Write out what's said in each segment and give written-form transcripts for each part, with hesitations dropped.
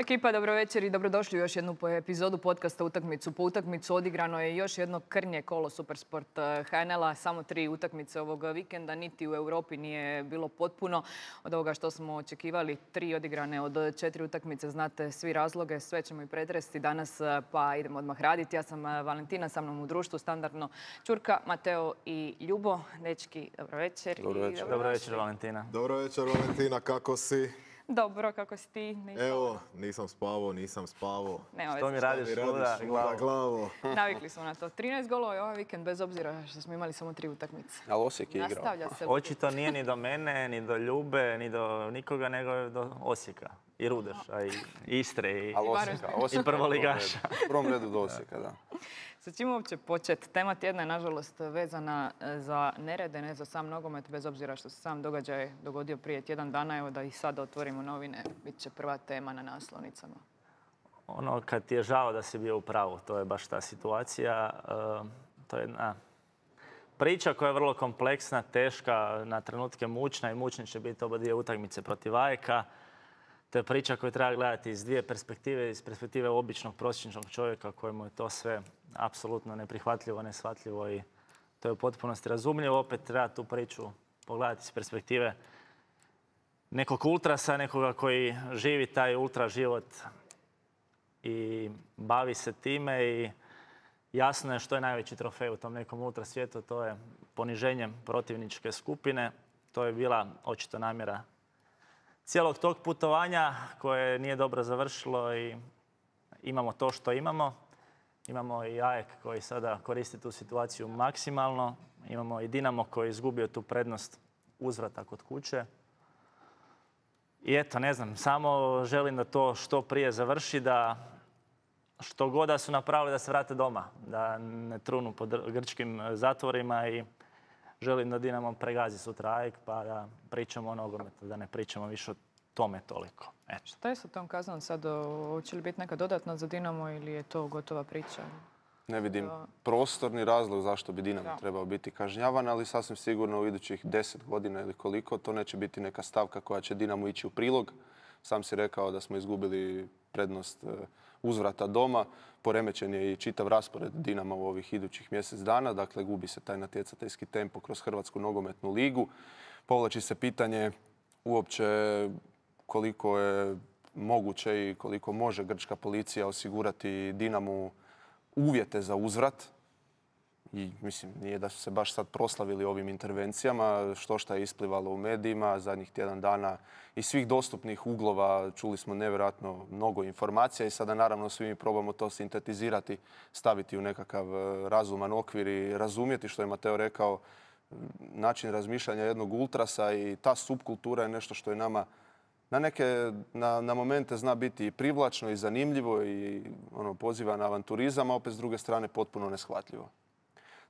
Ekipa, dobro večer i dobrodošli u još jednu epizodu podcasta Utakmicu po utakmicu. Odigrano je još jedno krnje kolo Supersport HNL-a. Samo 3 utakmice ovog vikenda. Niti u Europi nije bilo potpuno od ovoga što smo očekivali. 3 odigrane od 4 utakmice. Znate svi razloge. Sve ćemo i pretresti danas, pa idemo odmah raditi. Ja sam Valentina, sa mnom u društvu standardno Ćurka, Mateo i Ljubo. Dečki, dobro večer. Dobro večer, Valentina. Dobro večer, Valentina. Kako si? Dobro, kako si ti? Evo, nisam spavao. Što mi radiš? Glavo. Navikli smo na to. 13 golova je ovaj vikend, bez obzira što smo imali samo 3 utakmice. Ali Osijek je igrao. Očito nije ni do mene, ni do Ljube, ni do nikoga, nego do Osijeka. I Rudeša, i Istre, i prvoligaša. U prvom redu do Osijeka, da. Sa čim uopće početi? Tema tjedna je nažalost vezana za nerede, ne za sam nogomet, bez obzira što se sam događaj dogodio prije tjedan dana. Evo da i sada otvorimo novine, bit će prva tema na naslovnicama. Ono, kad ti je žao da si bio u pravu, to je baš ta situacija. To je jedna priča koja je vrlo kompleksna, teška, na trenutke mučna i mučni će biti oba dvije utakmice protiv AEK-a. To je priča koju treba gledati iz dvije perspektive, iz perspektive običnog prosječnog čovjeka kojemu je to sve apsolutno neprihvatljivo, neshvatljivo i to je u potpunosti razumljivo. Opet treba tu priču pogledati iz perspektive nekog ultrasa, nekoga koji živi taj ultra život i bavi se time i jasno je što je najveći trofej u tom nekom ultra svijetu, to je poniženjem protivničke skupine. To je bila očito namjera cijelog tog putovanja koje nije dobro završilo i imamo to što imamo. Imamo i AEK koji sada koristi tu situaciju maksimalno. Imamo i Dinamo koji je izgubio tu prednost uzvrata kod kuće. I eto, ne znam, samo želim da to što prije završi, da što god da su napravili da se vrate doma, da ne trunu po grčkim zatvorima i želim da Dinamo pregazi sutra AEK pa da pričamo o nogometu, da ne pričamo više o tome toliko. Eto. Šta je sa tom kaznom sad? Hoće li biti neka dodatna za Dinamo ili je to gotova priča? Ne vidim prostorni razlog zašto bi Dinamo trebao biti kažnjavan, ali sasvim sigurno u idućih 10 godina ili koliko to neće biti neka stavka koja će Dinamo ići u prilog. Sam si rekao da smo izgubili prednost uzvrata doma. Poremećen je i čitav raspored Dinama u ovih idućih mjesec dana. Dakle, gubi se taj natjecateljski tempo kroz Hrvatsku nogometnu ligu. Povlači se pitanje uopće koliko je moguće i koliko može grčka policija osigurati Dinamu uvjete za uzvrat. I mislim, nije da su se baš sad proslavili ovim intervencijama, što je isplivalo u medijima zadnjih tjedan dana iz svih dostupnih uglova. Čuli smo nevjerojatno mnogo informacija i sada naravno svi mi probamo to sintetizirati, staviti u nekakav razuman okvir i razumjeti što je Mateo rekao, način razmišljanja jednog ultrasa i ta subkultura je nešto što je nama na momente zna biti i privlačno i zanimljivo i poziva na avanturizam, a opet s druge strane potpuno neshvatljivo.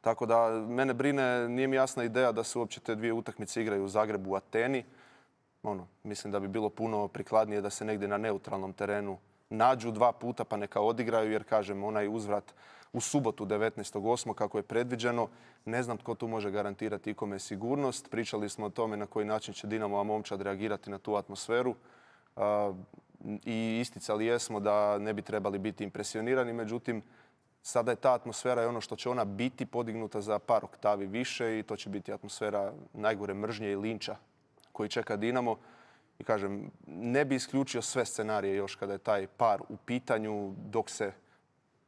Tako da mene brine, nije mi jasna ideja da se uopće te dvije utakmice igraju u Zagrebu, u Ateni. Mislim da bi bilo puno prikladnije da se negdje na neutralnom terenu nađu 2 puta pa neka odigraju, jer kažem, onaj uzvrat u subotu 19.8. kako je predviđeno, ne znam tko tu može garantirati ikome sigurnost. Pričali smo o tome na koji način će Dinamova momčad reagirati na tu atmosferu i isticali jesmo da ne bi trebali biti impresionirani, međutim, sada je ta atmosfera i ono što će ona biti podignuta za par oktavi više i to će biti atmosfera najgore mržnje i linča koji čeka Dinamo. I kažem, ne bi isključio sve scenarije još kada je taj par u pitanju dok se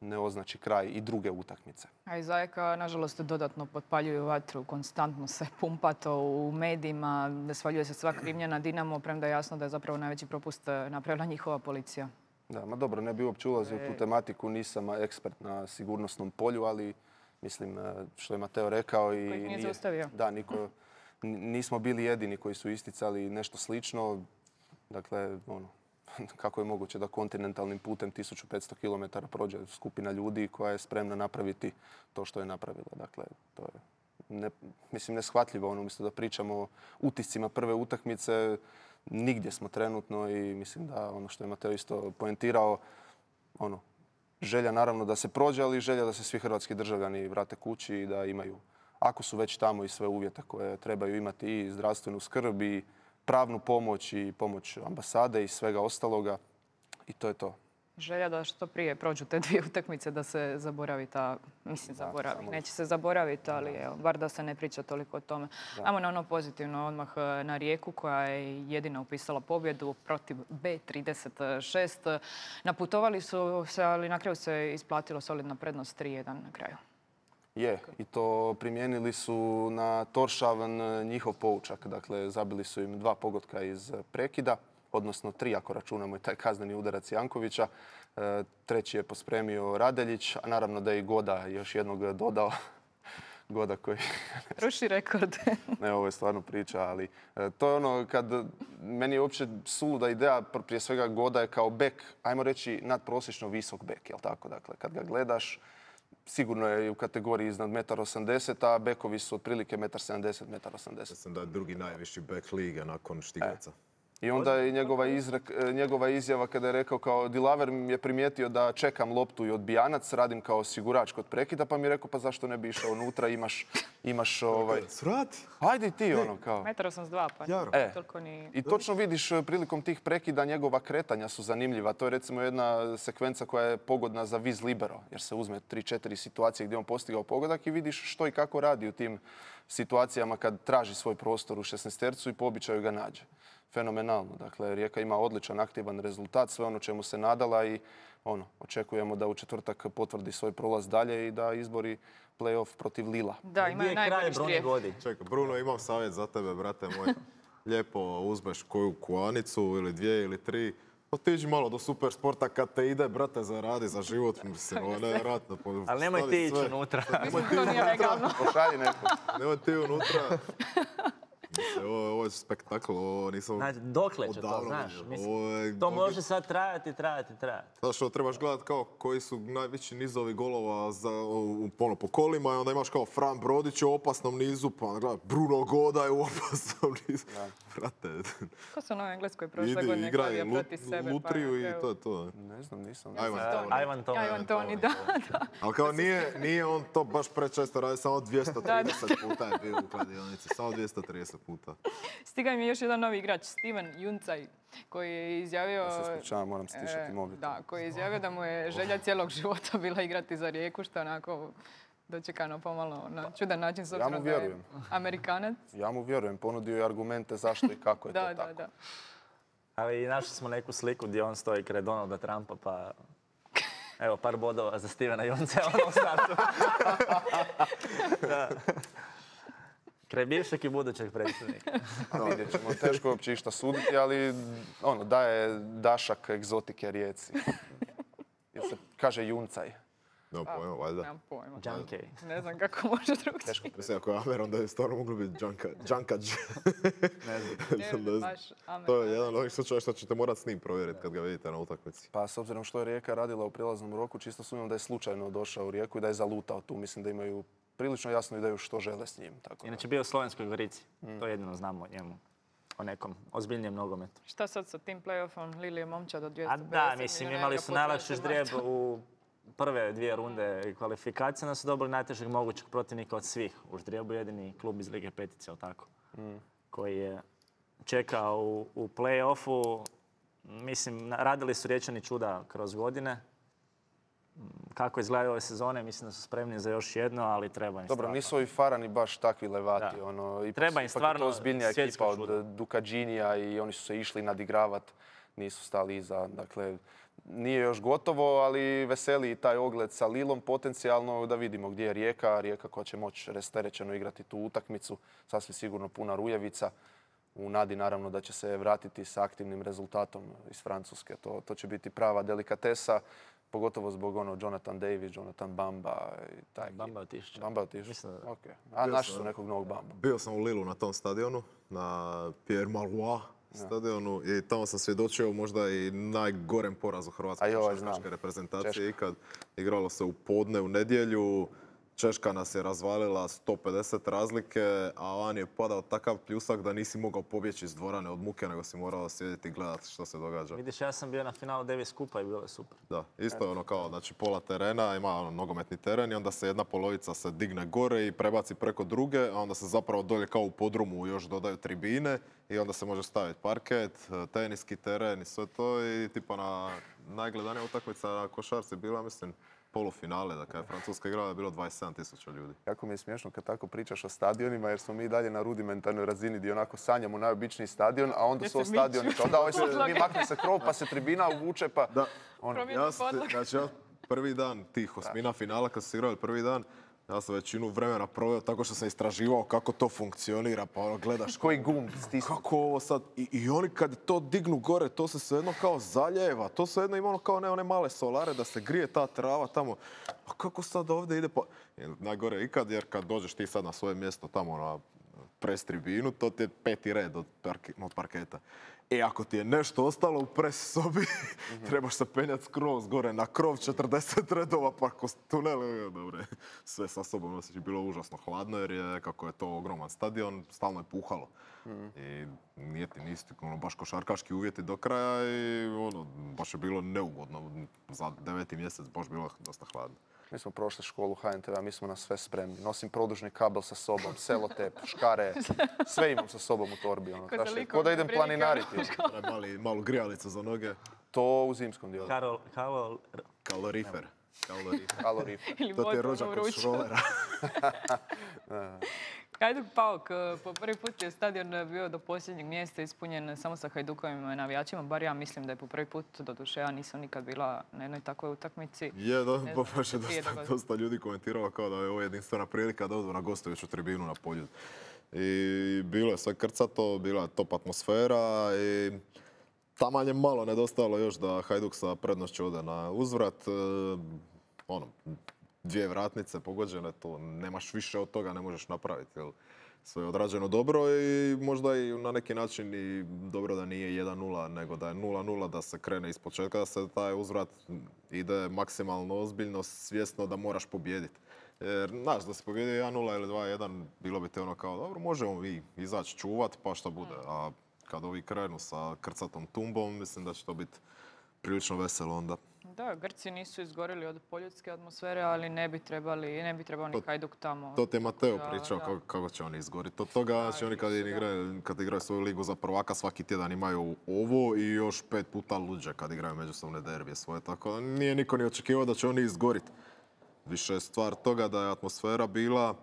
ne označi kraj i druge utakmice. A iz AEK-a, nažalost, dodatno potpaljuju vatru, konstantno se pumpa to u medijima, svaljuje se sva krivnja na Dinamo, premda je jasno da je zapravo najveći propust napravila njihova policija. Da, ma dobro, ne bi uopće ulazio u tu tematiku, nisam ekspert na sigurnosnom polju, ali mislim što je Mateo rekao i koji nije zaustavio. Da, nismo bili jedini koji su isticali nešto slično. Dakle, kako je moguće da kontinentalnim putem 1500 km prođe skupina ljudi koja je spremna napraviti to što je napravila. Dakle, to je neshvatljivo. Umjesto da pričamo o utiscima prve utakmice, nigdje smo trenutno i mislim da ono što je Mateo isto poentirao, želja naravno da se prođe, ali želja da se svi hrvatski državljani vrate kući i da imaju, ako su već tamo, i sve uvjete koje trebaju imati i zdravstvenu skrb i pravnu pomoć i pomoć ambasade i svega ostaloga. i to je to. Želja da što prije prođu te dvije utakmice da se zaboravi ta, mislim zaboravi, neće se zaboraviti, ali evo, bar da se ne priča toliko o tome. Ajmo na ono pozitivno odmah na Rijeku koja je jedina upisala pobjedu protiv B36. Naputovali su se, ali na kraju se isplatilo solidna prednost 3-1 na kraju. Je, i to primijenili su na Torshavn njihov poučak. Dakle, zabili su im 2 pogotka iz prekida, odnosno 3 ako računamo i taj kazneni udarac Jankovića. Treći je pospremio Radeljić, a naravno da je i Goda još jednog dodao. Goda koji... Ruši rekord. Ne, ovo je stvarno priča, ali to je ono kad meni je uopće suluda ideja, prije svega Goda je kao bek, ajmo reći nadprosječno visok bek, jel tako? Dakle, kad ga gledaš, sigurno je u kategoriji iznad 1,80 m, a bekovi su otprilike 1,70 m, 1,80 m. Mislim da je drugi najviši bek lige nakon Štiglica. I onda je njegova izjava kada je rekao kao Dilaver mi je primijetio da čekam loptu i odbijanac, radim kao osigurač kod prekida, pa mi je rekao pa zašto ne bi išao unutra, imaš Svrati! Ajde i ti ono kao. 1,82 pa toliko ni... I točno vidiš prilikom tih prekida njegova kretanja su zanimljiva. To je recimo jedna sekvenca koja je pogodna za vis libero, jer se uzme 3-4 situacije gdje on postigao pogodak i vidiš što i kako radi u tim situacijama kad traži svoj prostor u 16-tercu i po običaju ga nađe. Fenomenalno. Dakle, Rijeka ima odličan, aktivan rezultat, sve ono čemu se nadala i očekujemo da u četvrtak potvrdi svoj prolaz dalje i da izbori play-off protiv Lila. Da, imaju najbolji štrijep. Čekaj, Bruno, imam savjet za tebe, brate moj. Lijepo uzmeš koju kuanicu ili 2 ili 3. Otiđi malo do Supersporta kad te ide, brate, zaradi za život. Mislim, ovo je nevjerojatno. Ali nemoj ti ići unutra. To nije legalno. Pošalji neko. Nemoj ti unutra. Ovo je spektakl, ovo nisam... Znači, dokle će to, znaš? To može sad trajati. Zato što trebaš gledati kao koji su najveći nizovi golova po kolima i onda imaš kao Fran Brodić u opasnom nizu, pa onda gledaj Bruno Goda je u opasnom nizu. Brate... Ko su na Engleskoj prošle godine gledali protiv sebe? Lutriju i to je to. Ne znam, nisam. Ivan Toni, da. Ali kao nije on to baš prečesto radi, samo 230 puta je bio u kladionici, samo 230 puta. Stigao mi je još jedan novi igrač, Steven Juncaj, koji je izjavio... Ja se ispričavam, moram stišati mobitel. Da, koji je izjavio da mu je želja cijelog života bila igrati za Rijeku, što onako dočekano pomalo na čudan način, s obzirom da je Amerikanac. Ja mu vjerujem, ponudio je argumente zašto i kako je to tako. Da. Ali našli smo neku sliku gdje on stoji kraj Donalda Trumpa, pa... Evo, par bodova za Stevena Juncaja u startu. Kraj bivšeg i budućeg predsjednika. Vidjet ćemo, teško je uopće išta suditi, ali daje dašak egzotike Rijeci. Jer se kaže Juncaj. Nemam pojma, valjda. Nemam pojma. Junkej. Ne znam kako može drugčije. Mislim, ako je Amer, onda je stvarno moglo biti Džankađ. Ne baš Amer. To je jedan od ovih slučaja što ćete morati s njim provjeriti kad ga vidite na utakmici. Pa s obzirom što je Rijeka radila u prijelaznom roku, čisto sumnjam da je slučajno došao u Rijeku i da je zalutao tu. Mislim da imaju prilično jasnu ideju što žele s njim. Inače bio u Slovenskoj Gorici. To jedino znamo o njemu. O nekom ozbiljnijem nogometu. Šta sad sa tim play-offom Lilije Momčad od 250 A da, mislim, imali su najlakši ždrijeb u prve 2 runde kvalifikacije, da su dobili najtežeg mogućeg protivnika od svih. U ždrijebu jedini klub iz Lige Petice, jel tako? Koji je čekao u play-offu. Mislim, radili su Riječani čuda kroz godine. Kako izgledaju ove sezone, mislim da su spremni za još jedno, ali treba im stvarno. Dobro, nisu ovi Farani baš takvi levati. Treba im stvarno to ozbiljnija ekipa od Dukađinija i oni su se išli nadigravati, nisu stali iza. Dakle, nije još gotovo, ali veseli i taj ogled sa Lilom potencijalno da vidimo gdje je Rijeka. Rijeka koja će moći rasterećeno igrati tu utakmicu, sasvim sigurno puna Rujevica. U nadi naravno da će se vratiti sa aktivnim rezultatom iz Francuske. To će biti prava delikatesa. Pogotovo zbog Jonathan Davis, Jonathan Bamba i taj. Bamba otišće. Bamba otišće? Ok. A našli su nekog novog Bamba. Bio sam u Lilu na tom stadionu, na Pierre Mauroy stadionu i tamo sam svjedočio možda i najgorem porazu hrvatske košarkaške reprezentacije ikad. Igralo se u podne, u nedjelju. Češka nas je razvalila 150 razlike, a van je padao takav pljusak da nisi mogao pobjeći iz dvorane od muke, nego si morao sjediti i gledati što se događa. Vidiš, ja sam bio na finalu Davis Kupa i bilo je super. Da, isto je ono kao, znači pola terena, ima ono nogometni teren i onda se jedna polovica se digne gore i prebaci preko druge, a onda se zapravo dolje kao u podrumu još dodaju tribine i onda se može staviti parket, teniski teren i sve to i tipa na najgledanija utakmica na košarci bila, mislim, polufinale, da kada je Francuska igrala je bilo 27.000 ljudi. Jako mi je smiješno kad tako pričaš o stadionima, jer smo mi dalje na rudimentarnoj razini gdje onako sanjamo najobičniji stadion, a onda su stadioni kao da, mi makne se krov pa se tribina uvuče pa... Da, znači ja prvi dan tih osmina finala kad su se igrali prvi dan, ja sam većinu vremena proveo tako što sam istraživao kako to funkcionira, pa ono gledaš koji gumb stisnu. Kako ovo sad, i oni kad to dignu gore, to se svejedno kao zaljeva, to svejedno ima ono kao one male solare da se grije ta trava tamo, a kako sad ovdje ide pa... Najgore ikad, jer kad dođeš ti sad na svoje mjesto tamo na pres tribinu, to ti je 5. red od parketa. E, ako ti je nešto ostalo u pres sobi, trebaš se penjati skroz gore na krov, 40 redova, pa kroz tunele, dobre, sve sa sobom nosiš. Bilo užasno hladno jer je, kako je to ogroman stadion, stalno je puhalo. I nisi baš košarkaški uvjeti do kraja i baš je bilo neugodno. Za 9. mjesec baš bilo dosta hladno. Mi smo prošli školu HNTV-a, mi smo na sve spremni. Nosim produžni kabel sa sobom, selotep, škare, sve imam sa sobom u torbi. Ko da idem planinariti. Malu grijalicu za noge. To u zimskom dijelu. Kalorifer. To ti je rođak od šrolera. Hajduk Paok, po prvi put je stadion bio do posljednjeg mjesta ispunjen samo sa Hajdukovim navijačima, bar ja mislim da je po prvi put, doduše ja nisam nikad bila na jednoj takvoj utakmici. Je, da, baš je dosta ljudi komentiralo kao da je ovo jedinstvena prilika da odu na gostujuću tribinu na Poljud. I bilo je sve krcato, bila je top atmosfera i taman je malo nedostajalo još da Hajduk sa prednošću ode na uzvrat. 2 vratnice pogođene, to nemaš više od toga, ne možeš napraviti. Jel? Sve je odrađeno dobro i možda i na neki način i dobro da nije 1-0, nego da je 0-0, da se krene iz početka, da se taj uzvrat ide maksimalno ozbiljno, svjesno da moraš pobijediti. Jer, znaš, da se pobijedi 1-0 ili 2-1, bilo bi te ono kao, dobro, možemo mi izaći čuvat, pa šta bude. A kad ovi krenu sa krcatom tumbom, mislim da će to biti prilično veselo onda. Da, Grci nisu izgorili od poljudske atmosfere, ali ne bi trebao ni Hajduk tamo. To ti je Mateo pričao kako će oni izgoriti. Od toga, znači oni kad igraju svoju ligu za prvaka, svaki tjedan imaju ovo i još 5 puta luđe kad igraju međusobne derbije svoje. Tako nije niko ni očekivao da će oni izgoriti. Više je stvar toga da je atmosfera bila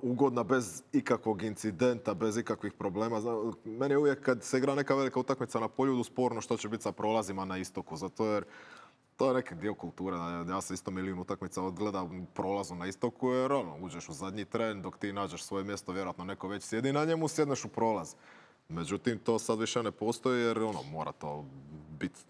ugodna bez ikakvog incidenta, bez ikakvih problema. Meni je uvijek kad se igra neka velika utakmica na Poljudu sporno što će biti sa prolazima na istoku. Zato jer to je neki dio kulture. Ja sam isto milijun utakmica odgledam prolazu na istoku jer uđeš u zadnji tren dok ti nađeš svoje mjesto, vjerojatno neko već sjedi na njemu, sjedneš u prolaz. Međutim, to sad više ne postoji jer mora to biti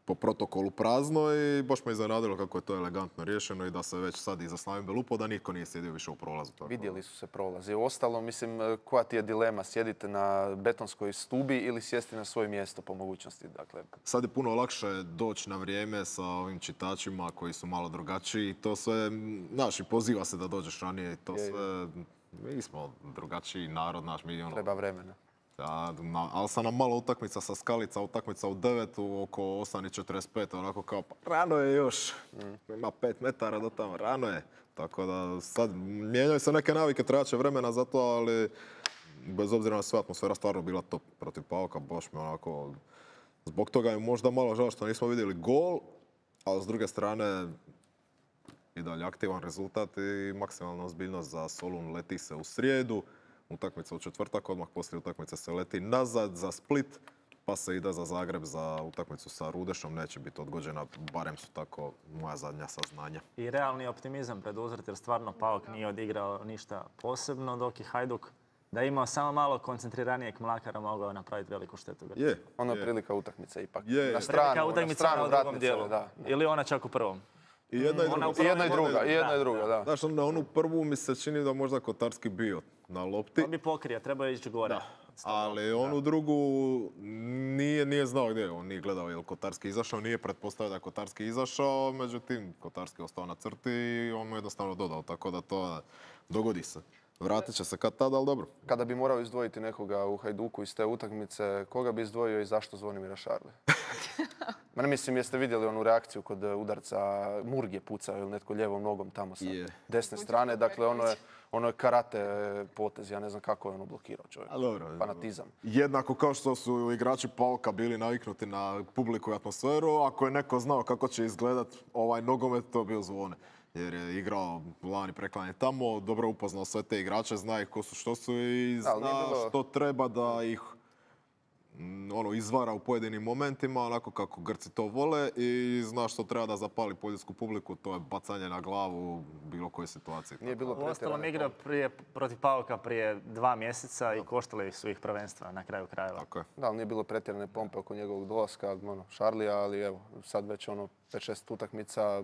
po protokolu prazno i baš me iznenadilo kako je to elegantno riješeno i da se već sad iza Slavim Belupo da niko nije sjedio više u prolazu. Vidjeli su se prolazi. Ostalo, mislim, koja ti je dilema? Sjedite na betonskoj stubi ili sjesti na svoje mjesto po mogućnosti? Dakle... Sad je puno lakše doći na vrijeme sa ovim čitačima koji su malo drugačiji. To sve, znaš, i poziva se da dođeš ranije i to sve... Mi smo drugačiji narod, znaš, mi Treba vremena. Ali sam nam malo utakmica sa Skalica, utakmica u 9, oko 8:45, onako kao, pa rano je još, ima 5 metara do tamo, rano je. Tako da sad mijenjaju se neke navike, treba će vremena za to, ali bez obzira na sve atmosfera stvarno bila top protiv Paoka, baš mi onako, zbog toga je možda malo žao što nismo vidjeli gol, ali s druge strane i dalje aktivan rezultat i maksimalna ozbiljnost za Solun, leti se u srijedu. Utakmica u četvrtak, odmah poslije utakmice se leti nazad za Split, pa se ide za Zagreb za utakmicu sa Rudešom. Neće biti odgođena, barem su tako moja zadnja saznanja. I realni optimizam pred uzvrat, jer stvarno Paok nije odigrao ništa posebno, dok je Hajduk da je imao samo malo koncentriranijeg Mlakara mogao napraviti veliku štetu. Ono je prilika utakmice ipak. Na stranu vratnice, dijelu, da. Ili ona čak u prvom. I jedna i druga, da. Znaš, na onu prvu mi se čini da možda Kotarski bio na lopti. On bi pokrio, treba ići gore. Ali onu drugu nije znao gdje je. On nije gledao je li Kotarski izašao, nije pretpostavio da je Kotarski izašao, međutim Kotarski je ostao na crti i on mu jednostavno dodao, tako da to dogodi se. Vratit će se kad tada, ali dobro. Kada bi morao izdvojiti nekoga u Hajduku iz te utakmice, koga bi izdvojio i zašto Zvonimira Šarli? Ma ne mislim, jeste vidjeli onu reakciju kod udarca, Murg je pucao ili netko lijevom nogom tamo sa desne strane. Dakle, ono je karate potez, ja ne znam kako je ono blokirao čovjek. Fanatizam. Jednako kao što su igrači Pauka bili naviknuti na publiku i atmosferu, ako je neko znao kako će izgledat ovaj nogomet, to bio Zvone. Jer je igrao lani preklanje tamo, dobro upoznao sve te igrače, zna ih ko su što su i zna što treba da ih izvara u pojedinim momentima, onako kako Grci to vole i zna što treba da zapali poljsku publiku, to je bacanje na glavu u bilo kojoj situaciji. Nije bilo Uostalom igrao protiv Pauka prije 2 mjeseca i koštali su ih prvenstva na kraju krajeva. Tako je. Da, ali nije bilo pretjerane pompe oko njegovog dolaska, Šarlija, ali evo, sad već 5-6 utakmica.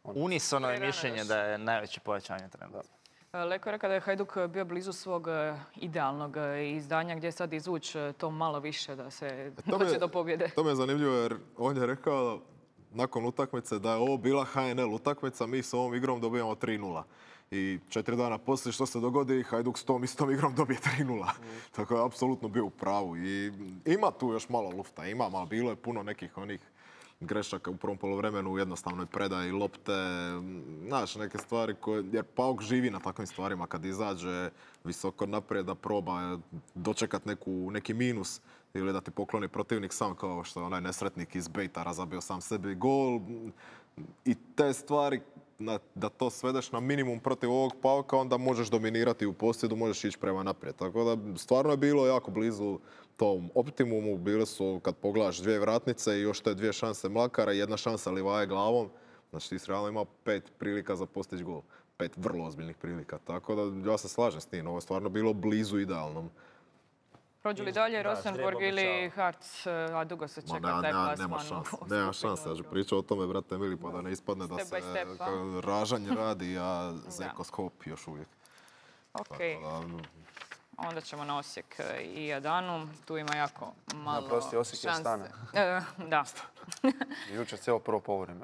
Unisono je mišljenje da je najveće pojačanje trenutno. Leko je rekao da je Hajduk bio blizu svog idealnog izdanja gdje sad izvući to malo više da se dođe do pobjede. To me je zanimljivo jer on je rekao nakon utakmice da je ovo bila HNL utakmica, mi s ovom igrom dobijamo 3:0. I 4 dana poslije što se dogodi, Hajduk s tom istom igrom dobije 3:0. Tako je apsolutno bio u pravu. I ima tu još malo lufta, ali bilo je puno nekih onih grešaka u prvom poluvremenu u jednostavnoj predaji lopte, znaš, neke stvari koje, jer Pauk živi na takvim stvarima kad izađe visoko naprijed da proba dočekat neki minus ili da ti pokloni protivnik sam kao što je onaj nesretnik iz Bejtara zabio sam sebi gol i te stvari da to svedeš na minimum protiv ovog Pauka, onda možeš dominirati u posjedu, možeš ići prema naprijed. Tako da stvarno je bilo jako blizu tom optimumu. Bile su, kad pogledaš, 2 vratnice i još te 2 šanse Mlakara i 1 šansa Livaje glavom. Znači ti si realno imao 5 prilika za postići gol. 5 vrlo ozbiljnih prilika. Tako da ja se slažem s tim. Ovo je stvarno bilo blizu idealnom. Prođu li dalje Rosenborg ili Hartz, a dugo se čeka taj plasman? Nema šanse. Ja ću pričati o tome, brate mili, pa da ne ispadne da se ražanje radi, a zekoskop još uvijek. Ok. Onda ćemo na Osijek i Adanu. Tu ima jako malo šanse. Prosti, Osijek je Astana. Da. Jučer cijelo prvo povreme.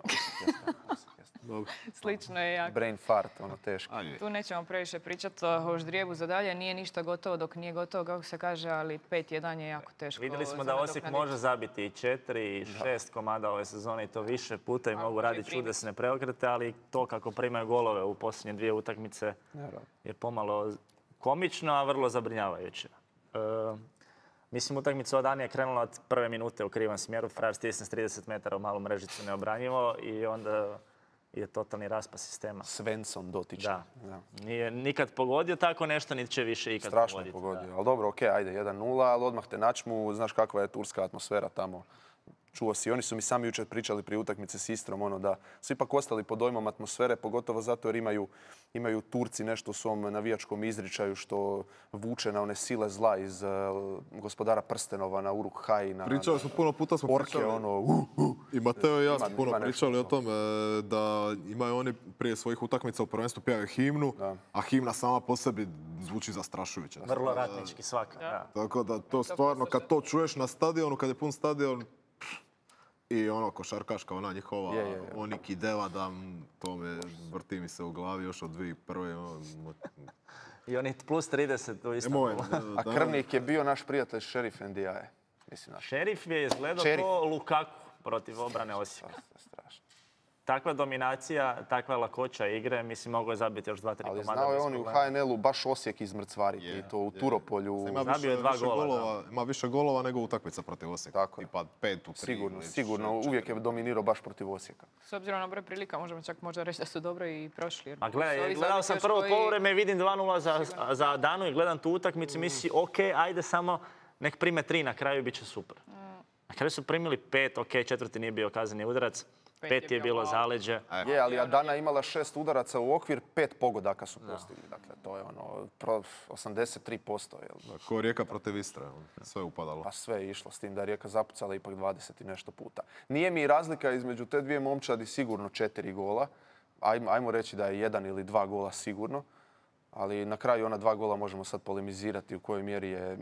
Slično je jako. Brain fart, teško. Tu nećemo previše pričati o ždrijebu za dalje. Nije ništa gotovo dok nije gotovo, kako se kaže, ali 5-1 je jako teško. Vidjeli smo da Osijek može zabiti i 4 i 6 komada ove sezone i to više puta i mogu raditi čudesne preokrete, ali to kako primaju golove u posljednje 2 utakmice je pomalo komično, a vrlo zabrinjavajuće. Mislim, utakmica od Anije je krenula od prve minute u krivom smjeru. Frajer stisne s 30 metara u malu mrežicu neobranjivo i onda je totalni raspas sistema. Svensson dotičan. Da. Nije nikad pogodio tako nešto, niti će više ikad pogoditi. Strašno pogodio. Ali dobro, okej, ajde, 1:0, ali odmah te načmu. Znaš kakva je turska atmosfera tamo. Čuo si, oni su mi sami jučer pričali prije utakmice s Istrom, da su ipak ostali pod dojmom atmosfere, pogotovo zato jer imaju Turci nešto u svom navijačkom izričaju što vuče na one sile zla iz Gospodara prstenova, na Uruk-hai, na pričali smo puno puta, orke, I Mateo i ja smo puno pričali o tome da imaju oni prije svojih utakmica u prvenstvu pjevaju himnu, a himna sama po sebi zvuči zastrašujuće. Vrlo ratnički svaka. Tako da to stvarno, kad to čuješ na stadionu, kad je pun stadion, i košarkaška, ona njihova, oni kideva da to me vrti mi se u glavi još od 2001. I oni plus 30 u Istanbulu. A krvnik je bio naš prijatelj Šerif Ndiaye. Šerif je izgledao ko Lukaku protiv obrane Osijeka. Strašno. Takva dominacija, takva lakoća igre, mislim, mogo je zabiti još 2-3 komada. Ali znao je on u HNL-u baš Osijek izmrcvariti i to u Turopolju. Zabio je 2 gola. Ima više golova nego utakmica protiv Osijeka. Tako. Tipa 5 u 3. Sigurno. Uvijek je dominirao baš protiv Osijeka. S obzirom na broj prilika možemo čak možda reći da su dobro i prošli. A gledao sam prvo poluvreme, vidim 2:0 za Adanu i gledam tu utakmicu i mislim, ok, ajde samo nek prime 3, na kraju bit će super. Na kraju su primili 5, ok, 4. nije bio kazneni udarac. 5 je bilo zaleđe. Je, ali Adana imala 6 udaraca u okvir, 5 pogodaka su postigli. Dakle, to je 83%. Ko Rijeka protiv Istre, sve je upadalo. Pa sve je išlo, s tim da je Rijeka zapucala ipak 20 i nešto puta. Nije mi razlika između te 2 momčadi sigurno 4 gola. Ajmo reći da je 1 ili 2 gola sigurno. Ali na kraju ona 2 gola možemo sad polemizirati u kojoj mjeri je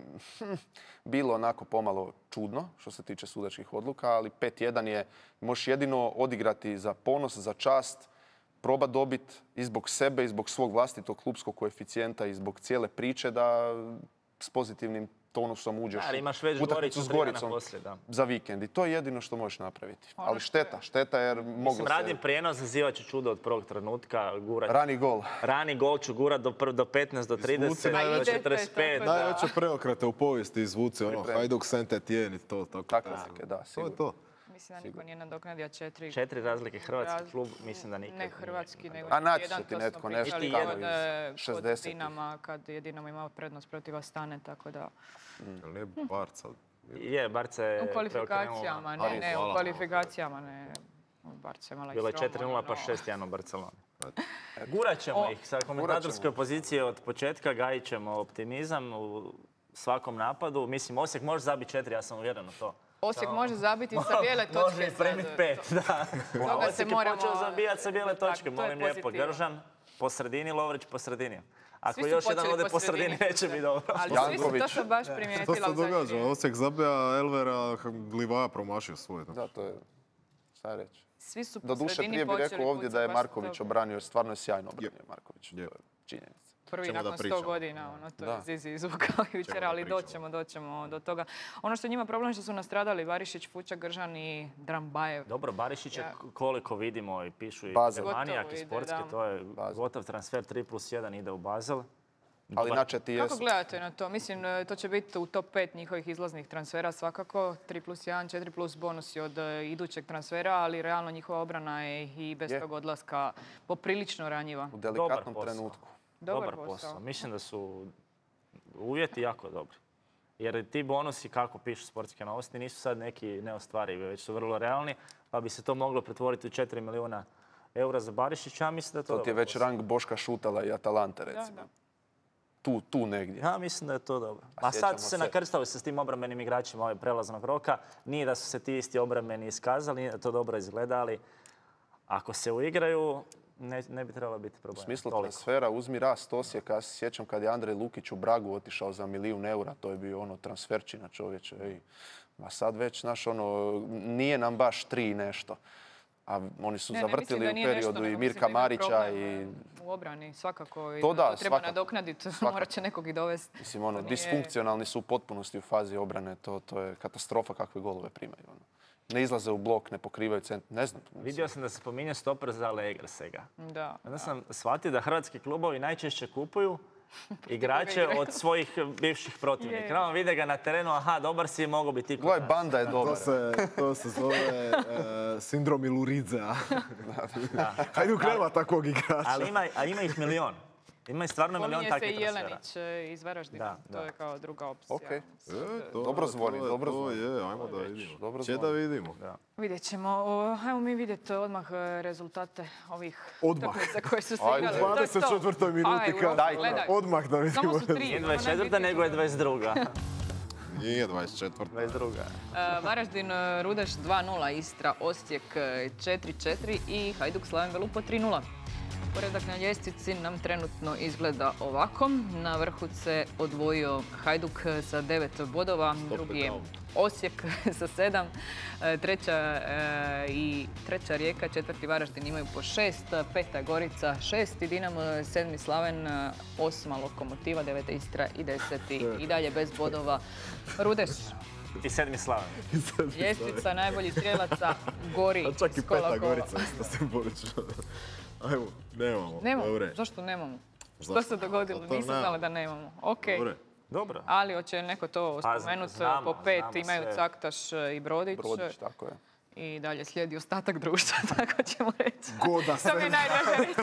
bilo onako pomalo čudno što se tiče sudačkih odluka, ali 5-1 je, možeš jedino odigrati za ponos, za čast, proba dobiti i zbog sebe i zbog svog vlastitog klubskog koeficijenta i zbog cijele priče da s pozitivnim tonusom uđeš u utakmicu s Goricom za vikend. I to je jedino što možeš napraviti. Ali šteta jer moglo se... Radim prijenos, zazivat ću čudo od prvog trenutka. Rani gol ću gurat do 15, do 30, do 45. Najveće preokrete u povijesti izvuci, Hajduk, Saint-Étienne i to. Tako neke, da, sigurno. To je to. Mislim da niko nije nadoknadio 4. 4 razlike hrvatski klub, mislim da nikad. Ne hrvatski, nego a naći će ti netko nešto kod 60. Dinama, kad je Dinamo imao prednost protiv Astane, tako da... Ali Barca... Je, Barca je u kvalifikacijama, ne, u kvalifikacijama, ne. Barca je imala i bilo je 4-0 pa 6-1 u Barceloni. Gurat ćemo ih sa komentatorske pozicije od početka, gajit ćemo optimizam u svakom napadu. Mislim, Osijek može zabiti 4, ja sam uvjeren u to. Osijek može zabiti sa bijele točke. Može primiti 5, da. Osijek je počeo zabijati sa bijele točke. Molim lijepo, Gržan po sredini, Lovrić po sredini. Ako još jedan ode po sredini, neće biti dobro. Ali svi su to se baš primijetila. To se događa. Osijek zabija Elvera, Livaja promašio svoj. Da, to je šta reći. Svi su po doduše, prije bih rekao ovdje da je Marković obranio, jer stvarno je sjajno obranio Marković. To je činjenica. Prvi nakon 100 godina, to je Zizi izvukao jučer, ali doćemo do toga. Ono što je njima problem što su nastradali Barišić, Fučak, Gržan i Drambajev. Dobro, Barišić je koliko vidimo i pišu i manijak i sportski, to je gotov transfer 3+1 ide u Basel. Ali načeti jesu. Kako gledate na to? Mislim, to će biti u top 5 njihovih izlaznih transfera svakako. 3+1, 4+ bonusi od idućeg transfera, ali realno njihova obrana je i bez tog odlaska poprilično ranjiva. U delikatnom trenutku. Dobar posao. Mislim da su uvjeti jako dobri. Jer ti bonusi, kako pišu sportske novosti, nisu sad neki neostvarivi, već su vrlo realni, pa bi se to moglo pretvoriti u 4 milijuna eura za Barišića. Ja mislim da je to ti je već rang Boška Šutala i Atalante, recimo. Tu negdje. Ja mislim da je to dobro. A sad su se nakrstali se s tim obrambenim igračima ove prelaznog roka. Nije da su se ti isti obrambeni iskazali, nije da to dobro izgleda, ali ako se uigraju, ne bi trebalo biti problem. U smislu transfera, uzmi rast Osijeka. Ja se sjećam kad je Andrej Lukić u Bragu otišao za 1 milijun eura, to je bio transferčina čovječe. A sad već, nije nam baš 3 nešto. A oni su zavrtili u periodu i Mirka Marića i... U obrani, svakako. To treba nadoknaditi, morat će nekog i dovesti. Mislim, disfunkcionalni su u potpunosti u fazi obrane. To je katastrofa kakve golove primaju. Ne izlaze u blok, ne pokrivaju centar, ne znam. Vidio sam da se spominje stoper za Allegrsega. Da. Onda sam shvatio da hrvatski klubovi najčešće kupuju igrače od svojih bivših protivnika. Vide ga na terenu, aha, dobar si, mogo bi ti... Gledaj, Banda je dobar. To se zove sindrom Iluridzea. Hajduk nema takvog igrača. Ali ima ih milion. Ima stvarno milion takvih transfera. Pominje se i Jelenić iz Varaždina. To je kao druga opcija. Dobro zvoni, dobro zvoni. Ajmo da vidimo. Če da vidimo. Vidjet ćemo. Ajmo mi vidjeti odmah rezultate ovih utakmica koje su se igrali. U 24. minuti. Odmah da vidimo. Samo su 3. Nije 24. nego je 22. Nije 24. 22. Varaždin, Rudeš 2-0, Istra, Osijek 4-4 i Hajduk Slaven Velupo 3-0. Poredak na ljestvici nam trenutno izgleda ovako. Na vrhu se odvojio Hajduk sa 9 bodova, drugi je Osijek sa 7, treća Rijeka, četvrti Varaždin imaju po 6, peta Gorica 6 i Dinamo 7. Slaven, 8. Lokomotiva, 9. Istra i 10. i dalje bez bodova Rudeš. I 7. Slaven. Ljestvica najboljih strijelaca gori. Čak i peta Gorica isto simbolično. Ajmo, nemamo. Dobre. Zašto nemamo? Što se dogodilo? Nisam znala da nemamo. Ok. Dobro. Ali hoće neko to spomenuti. Po 5 imaju Caktaš i Brodić. Brodić, tako je. I dalje slijedi ostatak društva, tako ćemo reći. Goda se. To mi je najdraže reći.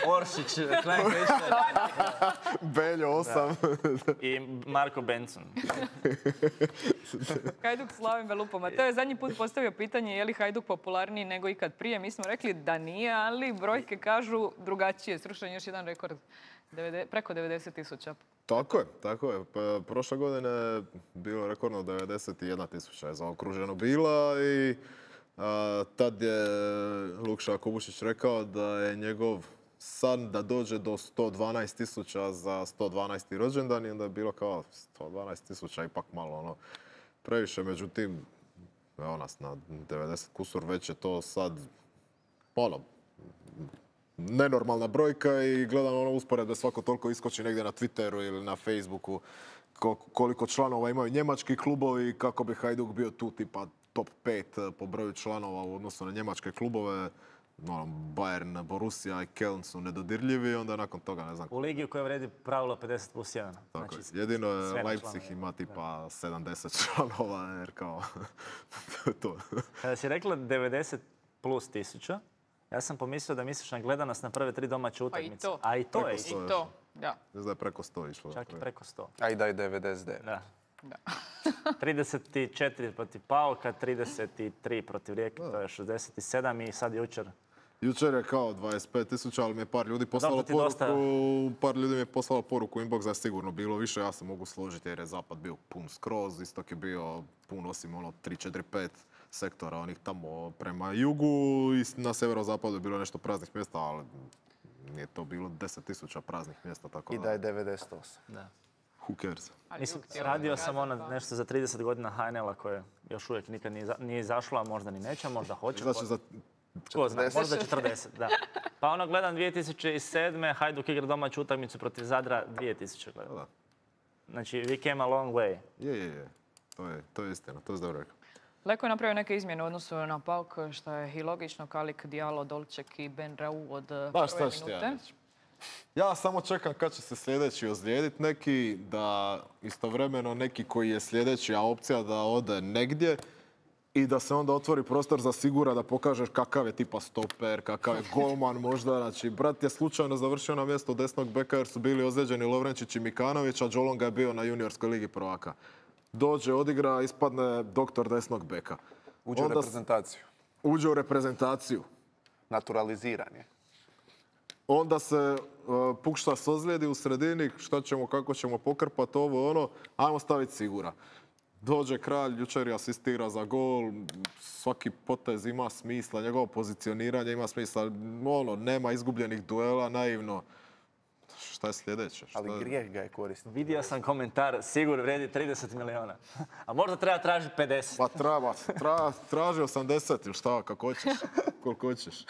Oršić, Klein Krišter. Beljo 8. I Marko Benson. Hajduk Slaven Velupo. Mateo je zadnji put postavio pitanje je li Hajduk popularniji nego ikad prije. Mi smo rekli da nije, ali brojke kažu drugačije. Srušen još jedan rekord. Preko 90.000. Tako je. Prošle godine je bilo rekordno 91.000 je zaokruženo bila i tad je Lukša Kubušić rekao da je njegov sad da dođe do 112.000 za 112. rođendan i onda je bilo kao 112.000 ipak malo previše, međutim evo nas na 90 kusur, već je to sad nenormalna brojka i gledam usporedbe svako toliko iskoči negdje na Twitteru ili na Facebooku koliko članova imaju njemački klubovi, kako bi Hajduk bio tu tipa top 5 po broju članova u odnosu na njemačke klubove. Bayern, Borussia i Köln su nedodirljivi, onda nakon toga ne znam. U ligi u kojoj vredi pravilo 50+1. Tako je. Jedino je Leipzig ima tipa 70 članova, jer kao to. Kada si rekla 90 plus 1000, ja sam pomislio da misliš na gledanost na prve 3 domaće utakmice. A i to je. I to, da. Mislim da je preko 100 išlo. Čak i preko 100. A i da je 99. Da. 34 protiv Pauka, 33 protiv Rijeke, to je 67 i sad jučer. Jučer je kao 25.000, ali mi je par ljudi poslalo poruku, inbox da je sigurno bilo više, ja se mogu složiti jer je zapad bio pun skroz, istok je bio pun osim 3, 4, 5 sektora onih tamo prema jugu i na severozapadu je bilo nešto praznih mjesta, ali nije to bilo 10.000 praznih mjesta. Tako I da je 98. Da. Who cares? Mislim, radio sam nešto za 30 godina HNL-a koje još uvijek nikad nije izašlo, a možda ni neće, možda hoće. Znači za Tko zna, možda 40, da. Pa gledam 2007. Hajduk igra domaću utakmicu protiv Zadra 2000 gledam. Da. Znači, we came a long way. Je. To je istina, to je dobro rekao. Leko je napravio neke izmjene u odnosu na Pauk, što je i logično, Kalik, Diallo, Dolček i Ben Rau od prve minute. Ja samo čekam kad će se sljedeći ozlijediti neki, da istovremeno neki koji je sljedeća opcija da ode negdje i da se onda otvori prostor za Sigura da pokažeš kakav je tipa stoper, kakav je golman možda. Znači, brat je slučajno završio na mjesto desnog beka jer su bili ozlijeđeni Lovrenčić i Mikanović, a Džolonga je bio na juniorskoj ligi prvaka. Dođe, odigra, ispadne doktor desnog beka. Uđe u reprezentaciju. Uđe u reprezentaciju. Naturaliziran je. Onda se Pukšta ozlijedi u sredini, šta ćemo, kako ćemo pokrpati ovo, ajmo staviti Sigura. Dođe Kralj, jučer je asistira za gol, svaki potez ima smisla, njegovo pozicioniranje ima smisla, nema izgubljenih duela, naivno. Šta je sljedeće? Ali grijeh ga je koristiti. Vidio sam komentar, Sigur vredi 30 miliona. A možda treba tražiti 50. Pa traži 80 ili šta, kako hoćeš, koliko hoćeš.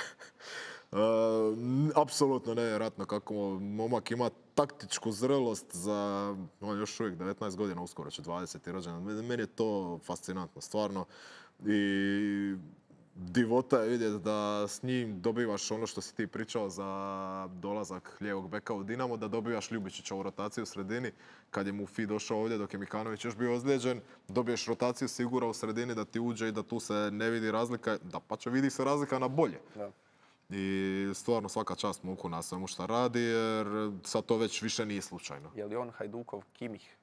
Apsolutno nevjerojatno kako momak ima taktičku zrelost za još uvijek 19 godina, uskoro će 20. rođendan. Meni je to fascinantno, stvarno. I divota je vidjeti da s njim dobivaš ono što si ti pričao za dolazak lijevog beka u Dinamo, da dobivaš Ljubičića u rotaciju u sredini. Kad je Mufi došao ovdje dok je Mikanović još bio ozlijeđen, dobiješ rotaciju Sigura u sredini da ti uđe i da tu se ne vidi razlika. Da, pa će vidi se razlika na bolje. Da. I stvarno svaka čast Muku na svemu što radi, jer sad to već više nije slučajno. Je li on Hajdukov Kimih?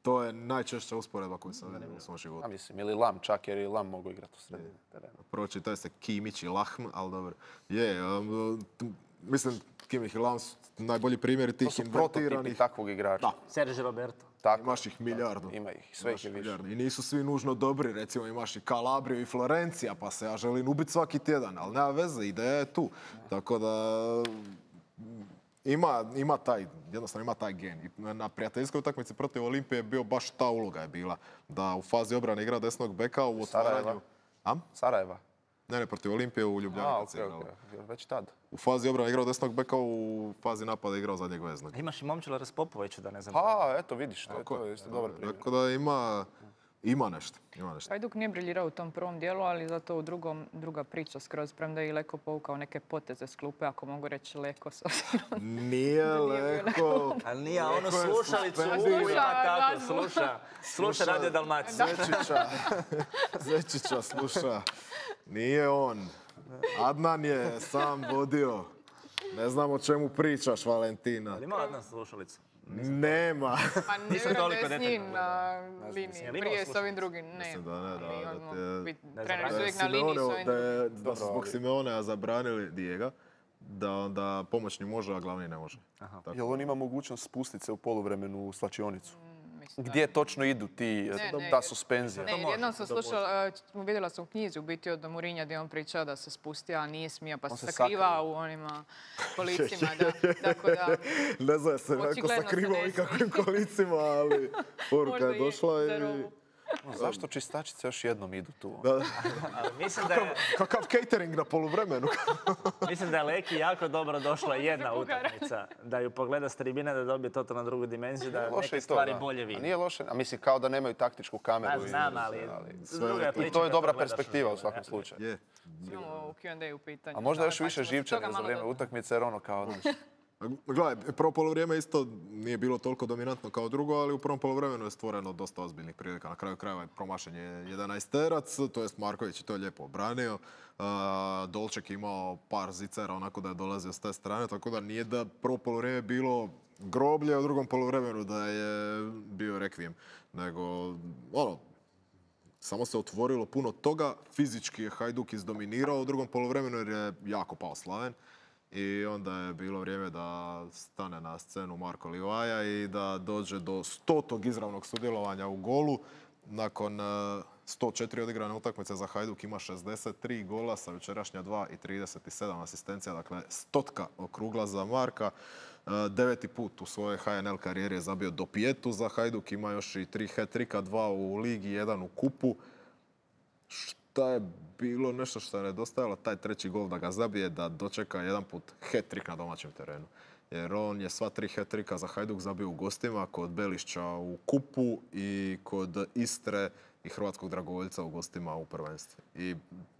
To je najčešća usporedba koju sam vidio u svom životu. A mislim, ili Lam čak, jer i Lam mogu igrati u sredini terena. Pročitaj se Kimić i Lahm, ali dobro. Mislim, Kimih i Lam su najbolji primjeri tih invertiranih. To su prototipi takvog igrača. Da. Sergio Roberto. Tako. Imaš ih milijardu. Ima ih, sve ih je više. I nisu svi nužno dobri, recimo imaš i Kalabriju i Florencija, pa se ja želim ubiti svaki tjedan, ali nema veze, ideja je tu. Tako da ima taj gen. I na prijateljskoj utakmici protiv Olimpije je bio baš ta uloga je bila, da u fazi obrane igra desnog beka u otvaranju. Sarajeva? Ne, protiv Olimpije u Ljubljani. Već tad. U fazi obrane igrao desnog beka, u fazi napada igrao zadnjeg veznog. Imaš i Momčila Raspopovića, da ne znam. Eto vidiš, to je isto dobar primjer. Tako da ima nešto. Hajduk nije briljirao u tom prvom dijelu, ali zato u druga priča skroz, premda je i Leko povukao neke poteze s klupe, ako mogu reći Leko s obzirom. Nije Leko. Ali nije, ono slušalicu ima tako, sluša Radio Dalmacija. Zečića sluša. Nije on. Adnan je sam vodio. Ne znam o čemu pričaš, Valentina. Ali ima Adnan slušalicu? Nema. Pa ne vjerujem da je s njim na liniji, prije s ovim drugim. Ne, treneri su uvijek na liniji s ovim drugim. Da su zbog Simeonea zabranili Dijega, da onda pomoćni može, a glavni ne može. Jel on ima mogućnost spustiti se u poluvremenu u slačionicu? gdje točno idu ta suspenzija. Ne, jednom sam slušala, vidjela sam u knjizi u biti od Mourinha gdje on pričao da se spustio, a nije smio, pa se sakrivao u onima kolicima. Tako da, ne znam se neko sakrivao i kakvim kolicima, ali poruka je došla i... Zašto čistačice još jednom idu tu? Mislim da je... Kakav catering na poluvremenu. Mislim da je Leki jako dobro došla jedna utakmica. Da ju pogleda s tribine, da dobije totalno drugu dimenziju, da neke stvari bolje vidi. Nije loše, a mislim kao da nemaju taktičku kameru. Znam, ali... I to je dobra perspektiva u svakom slučaju. imamo u Q&A u pitanju. A možda još više živčane za vrijeme utakmice, jer ono kao... Gledaj, prvo polovrijeme isto nije bilo toliko dominantno kao drugo, ali u prvom polovremenu je stvoreno dosta ozbiljnih prilika. Na kraju krajeva je promašen je 11-terac, to jest Marković je to lijepo obranio. Dolček imao par zicera onako da je dolazio s te strane, tako da nije da prvo polovrijeme bilo groblje, a u drugom polovremenu da je bio rekvijem. Nego, samo se otvorilo puno toga, fizički je Hajduk izdominirao u drugom polovremenu jer je jako pao Slaven. I onda je bilo vrijeme da stane na scenu Marko Livaja i da dođe do 100. izravnog sudjelovanja u golu. Nakon 104 odigrane utakmice za Hajduk ima 63 gola sa jučerašnja 2 i 37 asistencija. Dakle, 100 okrugla za Marka. 9. put u svojoj HNL karijeri je zabio do pijetu za Hajduk. Ima još i 3 hat-trika, 2 u ligi, 1 u kupu. Šta je bilo nešto što je nedostajalo, taj treći gol da ga zabije, da dočeka jedan put hat-trick na domaćem terenu. Jer on je sva 3 hat-trika za Hajduk zabio u gostima, kod Belišća u kupu i kod Istre i Hrvatskog dragovoljca u gostima u prvenstvu. I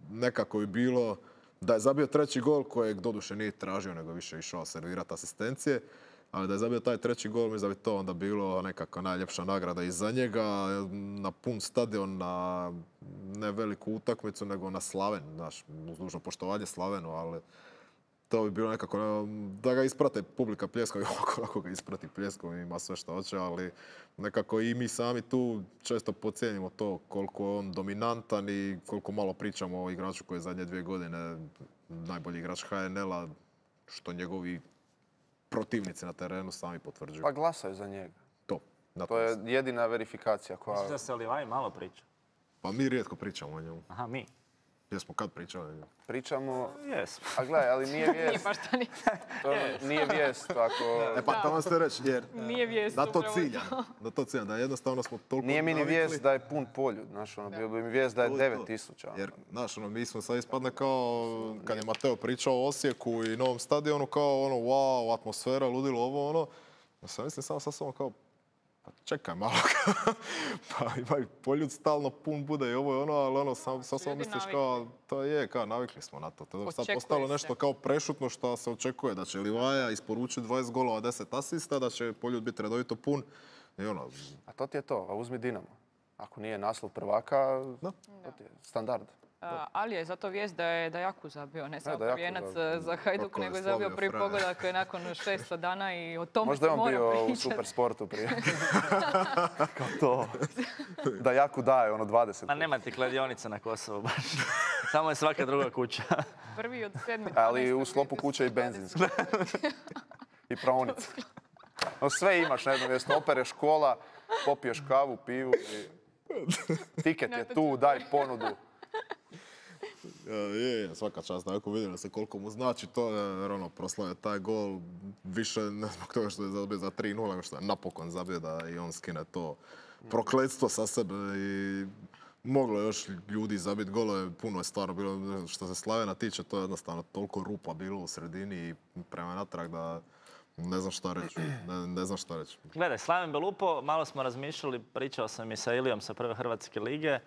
nekako je bilo da je zabio treći gol kojeg doduše nije tražio, nego više išao servirati asistencije. Ali da je zabio taj treći gol, mislim da bi to onda bilo nekako najljepša nagrada i za njega. Na pun stadion, na ne veliku utakmicu, nego na Slaven. Znaš, uz dužno poštovanje Slavenu, ali to bi bilo nekako da ga isprate publika pljeskom i ako ga isprati pljeskom ima sve što hoće, ali nekako i mi sami tu često podcijenimo to koliko je on dominantan i koliko malo pričamo o igraču koji je zadnje 2 godine najbolji igrač HNL-a, što njegovi protivnici na terenu sami potvrđuju. Pa glasaju za njega. To je jedina verifikacija koja... Mislim da se o Livaji malo priča. Pa mi rijetko pričamo o njemu. Aha, mi. Jesmo kad pričali o njemu? Pričamo... Jesmo. A gledaj, ali nije vijest. Nije vijest ako... Pa tamo ste reći, jer nije vijest, da to ciljam, da jednostavno smo toliko nije mi ni vijest da je pun Poljud, znaš, bio bi mi vijest da je 9000. Jer, znaš, mi smo sad ispadne kao, kad je Mateo pričao o Osijeku i novom stadionu, kao wow, atmosfera, ludilo, ovo, Ja sam mislim samo sa sobom kao, pa čekaj malo, pa ima Poljud stalno pun bude i ovo je ali samo misliš kao, to je, kao navikli smo na to. To je sad postalo nešto kao prešutno što se očekuje, da će Livaja isporučiti 20 golova, 10 asista, da će Poljud biti redovito pun i A to ti je to, a uzmi Dinamo. Ako nije naslov prvaka, to ti je standard. Ali je zato vijest da je Dajaku zabio, ne samo prvijenac za Hajduk, nego je zabio prvi pogodak nakon 600 dana i o tome se mora pričati. Možda je on bio u Supersportu prije. Kao to. Dajaku daje, 20. Pa nema ti kladionica na Kosovu baš. Samo je svaka druga kuća. Prvi od 7. Ali u sklopu kuće i benzinska. I praonica. Sve imaš na jednom mjestu. Opereš škola, popiješ kavu, pivu i... Tiket je tu, daj ponudu. Svaka čast, ako vidim se koliko mu znači to, jer proslavio taj gol više ne zbog toga što je zabio za 3-0, nego što je napokon zabio da i on skine to prokletstvo sa sebe i moglo je još ljudi zabiti golove, puno je stvarno bilo, što se Slavena tiče, to je jednostavno toliko rupa bilo u sredini i prema natrag da ne znam šta reći. Gledaj, Slaven Belupo, malo smo razmišljali, pričao sam i sa Ilijom sa prve Hrvatske lige,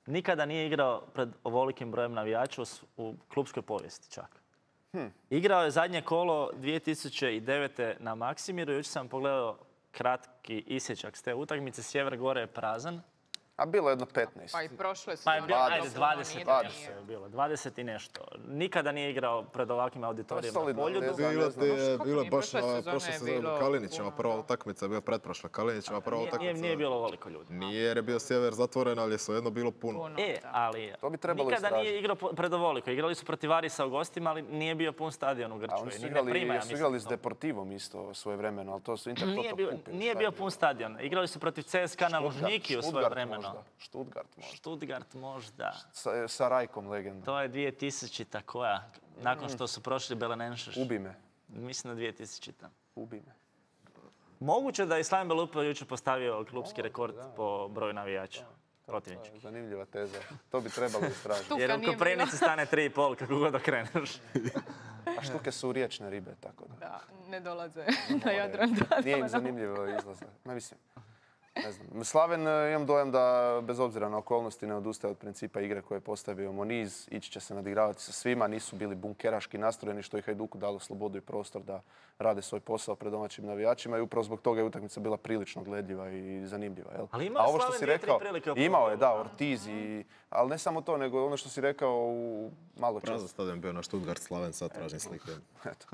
nikada nije igrao pred ovolikim brojem navijača u klupskoj povijesti čak. Igrao je zadnje kolo 2009. na Maksimiru. Jučer sam pogledao kratki isječak s te utakmice. Sjever Gore je prazan. A bilo je jedno 15. Pa i prošle su. Pa je bilo, ajde, nije 20 je bilo. 20 i nešto. Nikada nije igrao pred ovakvim auditorijima na Poljudu. Bilo je baš prošle na sezone prošle je sezone bilo Kalinićeva puno, prva da. utakmica, je bila pretprošla Kalinićeva prva utakmica. Nije bilo ovoliko ljudi. Nije jer je bio sjever zatvoren, ali je svejedno bilo puno. Ali To bi trebalo nikada istražiti. nije igrao pred ovoliko. Igrali su protiv Varisa u gostima, ali nije bio pun stadion u A Grčkoj. oni su Ni ne igrali, prima, ja jesu mislim, igrali s to. Deportivom isto svoje vremeno, ali to su Intertoto kupili. Nije bio pun stadion. Igrali su protiv CSKA na Lužniki u svoje vremeno. Stuttgart možda. Stuttgart možda. Sa Rajkom legendom. To je 2000-ta koja? Nakon što su prošli Belenenšeš. Ubi me. Mislim da 2000-ta. Ubi me. Moguće da je Slaven Belupo jučer postavio klubski rekord po broju navijača. Protivnički. Zanimljiva teza. To bi trebalo istražiti. Tuka Jer u nije Koprivnici stane 3,5 kako god okreneš. A štuke su riječne ribe, tako da. Da, ne dolaze na Jadran. Nije im zanimljivo izlaze. Ma mislim, ne znam. Slaven, imam dojam da bez obzira na okolnosti ne odustaje od principa igre koje je postavio Moniz. Ići će se nadigravati sa svima. Nisu bili bunkeraški nastrojeni što je Hajduku dalo slobodu i prostor da rade svoj posao pred domaćim navijačima i upravo zbog toga je utakmica bila prilično gledljiva i zanimljiva. Jel? Ali imao A ovo što Slaven si 2-3 rekao, prilike u imao je, da, prvom. Ortiz ali ne samo to, nego ono što si rekao u malo Prazan čas. stadion bio na Stuttgart Slaven, sad tražim slike. Eto.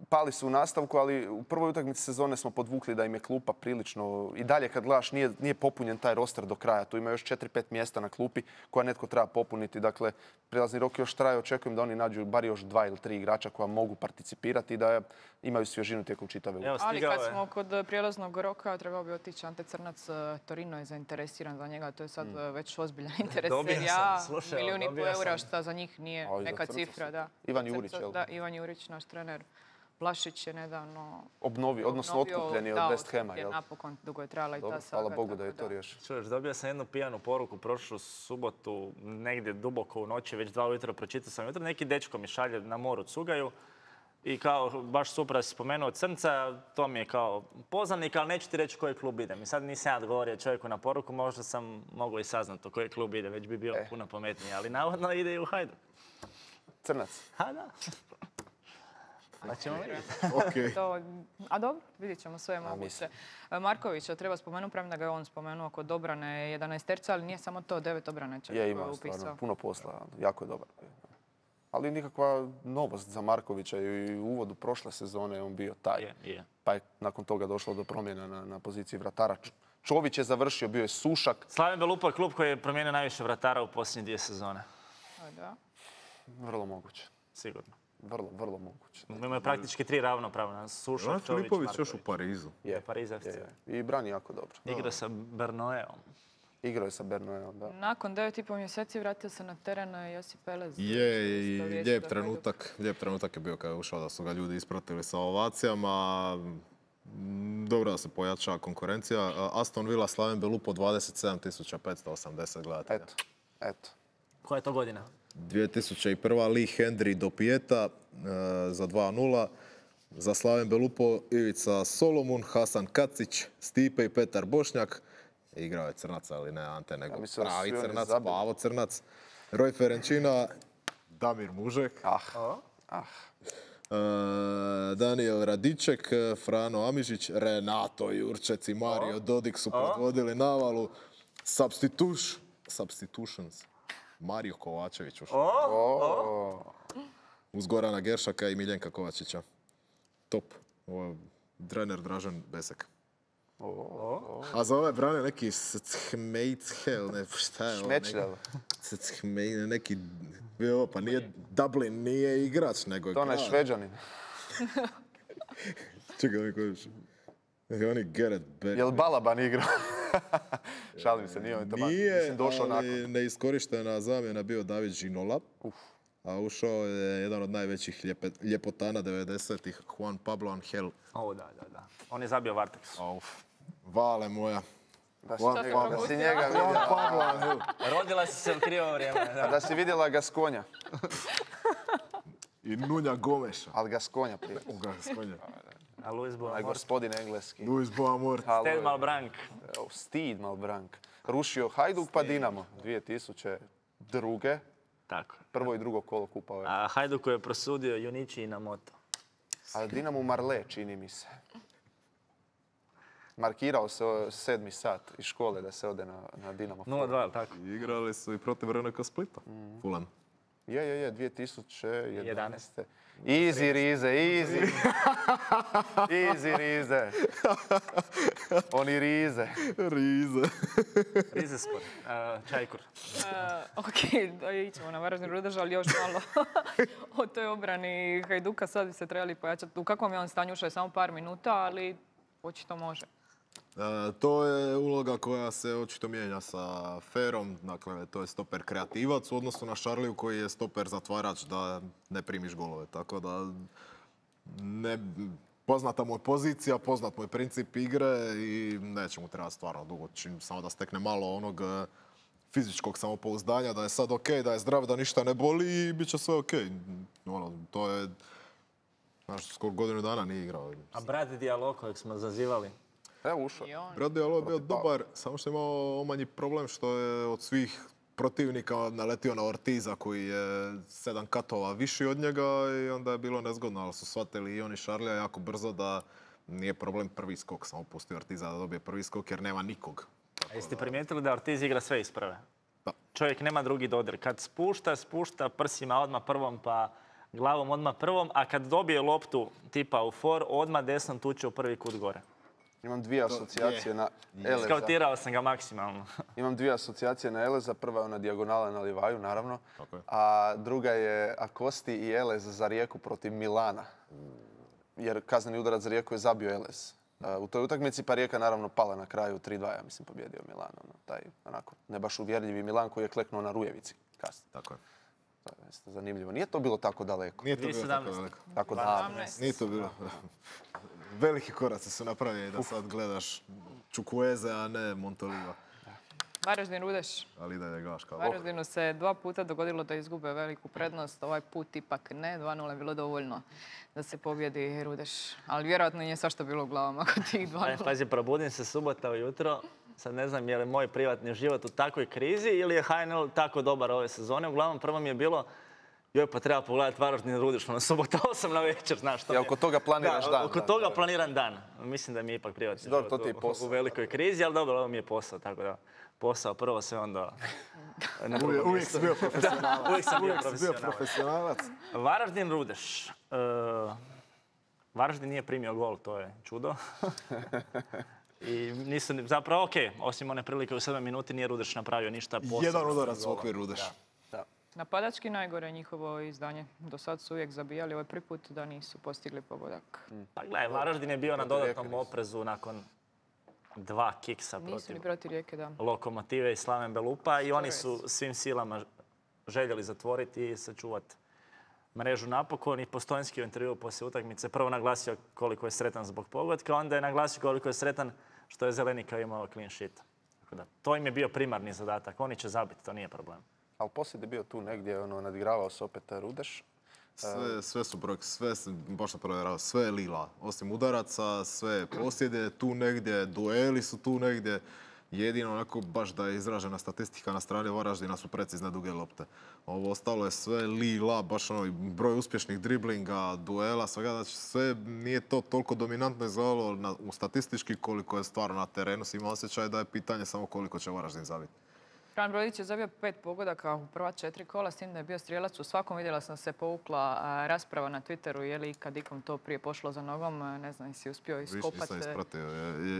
Pali su u nastavku, ali u prvoj utakmici sezone smo podvukli da im je klupa prilično... I dalje kad gledaš nije popunjen taj roster do kraja. Tu ima još 4-5 mjesta na klupi koja netko treba popuniti. Dakle, prijelazni rok još traje. Očekujem da oni nađu bar još 2 ili 3 igrača koja mogu participirati i da imaju svježinu tijekom čitave utakmice. Ali kad smo kod prijelaznog roka, trebao bi otići Ante Crnac. Torino je zainteresiran za njega. To je sad već ozbiljan interes. Dobio Serija sam, A, slušaj, milijun i dobio pol eura, sam. šta za njih nije A, i za neka Crnca cifra. su. Da. Ivan Jurić, jel? Da, Ivan Jurić, naš trener. Vlašić je nedavno Odnosno otkupljen je od West Hama, jel? Napokon, dugo je trajala i Dobro, ta saga. hvala Bogu da je tako to riješio. Čuješ, dobio sam jednu pijanu poruku prošlu subotu, negdje duboko u noći, već 2 ujutro, pročitao sam jutro, neki dečko mi šalje na moru cugaju i kao, baš super da si spomenuo Crnca, to mi je kao poznanik, ali neću ti reći koji klub idem. I sad nisam ja odgovorio čovjeku na poruku, možda sam mogao i saznati u koji klub ide, već bi bio puno pametniji, ali navodno ide i u Hajduk. Crnac. Ha, da. Pa ćemo vidjeti. Ok. A dobro, vidjet ćemo sve moguće. Markovića treba spomenuti, premda ga je on spomenuo kod obrane 11 ali nije samo to, 9 obrane će Je imao stvarno puno posla, jako je dobar. Ali nikakva novost za Markovića i u uvodu prošle sezone je on bio taj. Je. Pa je nakon toga došlo do promjena na poziciji vratara. Čović je završio, bio je Sušak. Slaven Belupo je klub koji je promijenio najviše vratara u posljednje 2 sezone. Da. Vrlo moguće. Sigurno. Vrlo moguće. Imaju praktički 3 ravnopravna. Sušak, Ivan Čović, Filipović još u Marković. Parizu. Je, Pariz FC. I brani jako dobro. Igra sa Bernoeom. Igrao je sa Bernoeom, da. Nakon 9,5 mjeseci vratio se na teren Josip Pelez. Je, i lijep trenutak je bio kada je ušao da su ga ljudi ispratili sa ovacijama. Dobro da se pojača konkurencija. Aston Villa, Slaven Belupo, 27.580 gledatelja. Eto. Koja je to godina? 2001. Lee Hendry do Pijeta za 2:0. Za Slaven Belupo Ivica Solomon, Hasan Kacić, Stipe i Petar Bošnjak. Igrao je Crnac, ali ne Ante, nego mislim da su pravi svi oni Crnac, zabili. Pavo Crnac. Roj Ferenčina, Damir Mužek. Daniel Radiček, Frano Amižić, Renato Jurčec i Mario Dodik su predvodili navalu. Substitutions. Mario Kovačević ušao. Uz Gorana Geršaka i Miljenka Kovačića. Top. Ovo je trener Dražen Besek. A za ove brane neki Schmeichel, ne, šta je ovo? Šmečljel. Neki, pa nije Dublin, nije igrač, nego je To je Šveđanin. Čekaj, neko još. Oni Gareth Barry. Jel Balaban igrao? Šalim se, nije on tamo. Nije, došao nakon. ali neiskorištena zamjena bio David Ginola. A ušao je jedan od najvećih ljepotana 90-ih, Juan Pablo Angel. O, da. On je zabio Varteks. Vale moja. Da si njega Juan vidjela. Pablo Angel. Rodila si se u krivo vrijeme. Da. Da si vidjela Gaskonja. I Nunja Gomeša. Ali Gaskonja prije. A Luis Onaj Boamor. gospodin engleski. Luis Boamor. Ted Malbrank. Steve Malbrank. Rušio Hajduk pa Dinamo. 2002. Tako. Prvo i drugo kolo kupa ove. A Hajduku je prosudio Junići i na moto. A Dinamo Marle, čini mi se. Markirao se 7. sat iz škole da se ode na Dinamo. 0-2, tako? Igrali su i protiv RNK Splita. Fulham. Je, 2011. Easy, Rize, easy. Easy, Rize. Oni Rize. Rize sport. Čajkur. Ok, ićemo na Varaždin Rudež, ali još malo o toj obrani Hajduka. Sad bi se trebali pojačati. U kakvom je on stanju? Ušao je samo par minuta, ali očito može. To je uloga koja se očito mijenja sa Ferom, dakle to je stoper kreativac u odnosu na Šarliju koji je stoper zatvarač da ne primiš golove, tako da poznata mu je pozicija, poznat mu je princip igre i neće mu trebati stvarno dugo, samo da stekne malo onog fizičkog samopouzdanja, da je sad ok, da je zdrav, da ništa ne boli i bit će sve ok. To je, skoro godinu dana nije igrao. A brat Diallo kojeg smo zazivali? Evo ušao. Brat Diallo je bio dobar, samo što je imao omanji problem što je od svih protivnika naletio na Ortiza koji je 7 katova viši od njega i onda je bilo nezgodno, ali su shvatili i oni Šarlija jako brzo da nije problem prvi skok, samo pusti Ortiza da dobije prvi skok jer nema nikog. A jeste primijetili da Ortiz igra sve iz prve? Da. Čovjek nema drugi dodir. Kad spušta prsima odmah prvom pa glavom odmah prvom, a kad dobije loptu tipa u for, odmah desnom tuče u prvi kut gore. Imam dvije asocijacije na Eleza. Skautirao sam ga maksimalno. Imam dvije asocijacije na Eleza. Prva je ona dijagonala na Livaju, naravno. Okay. A druga je Akosti i Elez za Rijeku protiv Milana. Jer kazneni udarac za Rijeku je zabio Elez. U toj utakmici pa Rijeka naravno pala na kraju 3-2, ja mislim, pobjedio Milan. Taj onako ne baš uvjerljivi Milan koji je kleknuo na Rujevici kasnije. Tako je. To je zanimljivo. Nije to bilo tako daleko. Nije to bilo tako daleko. Tako da. Nije to bilo. Veliki koraci su napravljeni da sad gledaš Čukueze, a ne Montoliva. Varaždin Rudeš. Ali da je gaš kao. Varaždinu se 2 puta dogodilo da izgube veliku prednost. Ovaj put ipak ne. 2-0 je bilo dovoljno da se pobjedi Rudeš. Ali vjerojatno nije svašta bilo u glavama kod tih 2-0. Pazi, probudim se subota ujutro. Sad ne znam je li moj privatni život u takvoj krizi ili je HNL tako dobar ove sezone. Uglavnom prvo mi je bilo pa treba pogledati Varaždin Rudeš na subota 8 na večer, znaš što. Ja oko toga planiraš dan. Oko toga planiram dan. Mislim da mi je ipak privatni život u velikoj krizi, ali dobro, ovo mi je posao, tako da posao prvo sve onda... Uvijek si bio profesionalac. Uvijek sam bio profesionalac. Varaždin Rudeš. Varaždin nije primio gol, to je čudo. I nisu, zapravo okej, osim one prilike u 7 minuti nije Rudeš napravio ništa posebno. Jedan udarac u okvir Rudeš. Napadački najgore njihovo izdanje. Do sad su uvijek zabijali, ovaj prvi put da nisu postigli pogodak. Pa gledaj, Varaždin je bio na dodatnom oprezu nakon 2 kiksa protiv Rijeke, da. Lokomotive i Slaven Belupa i oni su svim silama željeli zatvoriti i sačuvati mrežu napokon. I Postojnski u intervjuu poslije utakmice prvo naglasio koliko je sretan zbog pogotka, onda je naglasio koliko je sretan što je Zelenika imao clean sheet. To im je bio primarni zadatak, oni će zabiti, to nije problem. Ali poslije je bio tu negdje, nadigravao se opet Rudeš. Sve su brojke, baš na provjerao, sve je lila. Osim udaraca, sve posjede tu negdje, dueli su tu negdje. Jedino onako baš da je izražena statistika na strani Varaždina su precizne duge lopte. Ovo ostalo je sve lila, baš broj uspješnih driblinga, duela, svega. Znači sve nije to toliko dominantno izgledalo statistički koliko je stvarno na terenu. Ima osjećaj da je pitanje samo koliko će Varaždin zabiti. Fran Brodić je zabio 5 pogodaka u prva 4 kola, s tim da je bio strijelac u svakom. Vidjela sam se povukla rasprava na Twitteru, je li kad ikom to prije pošlo za nogom, ne znam, si uspio iskopati. Nisam ispratio,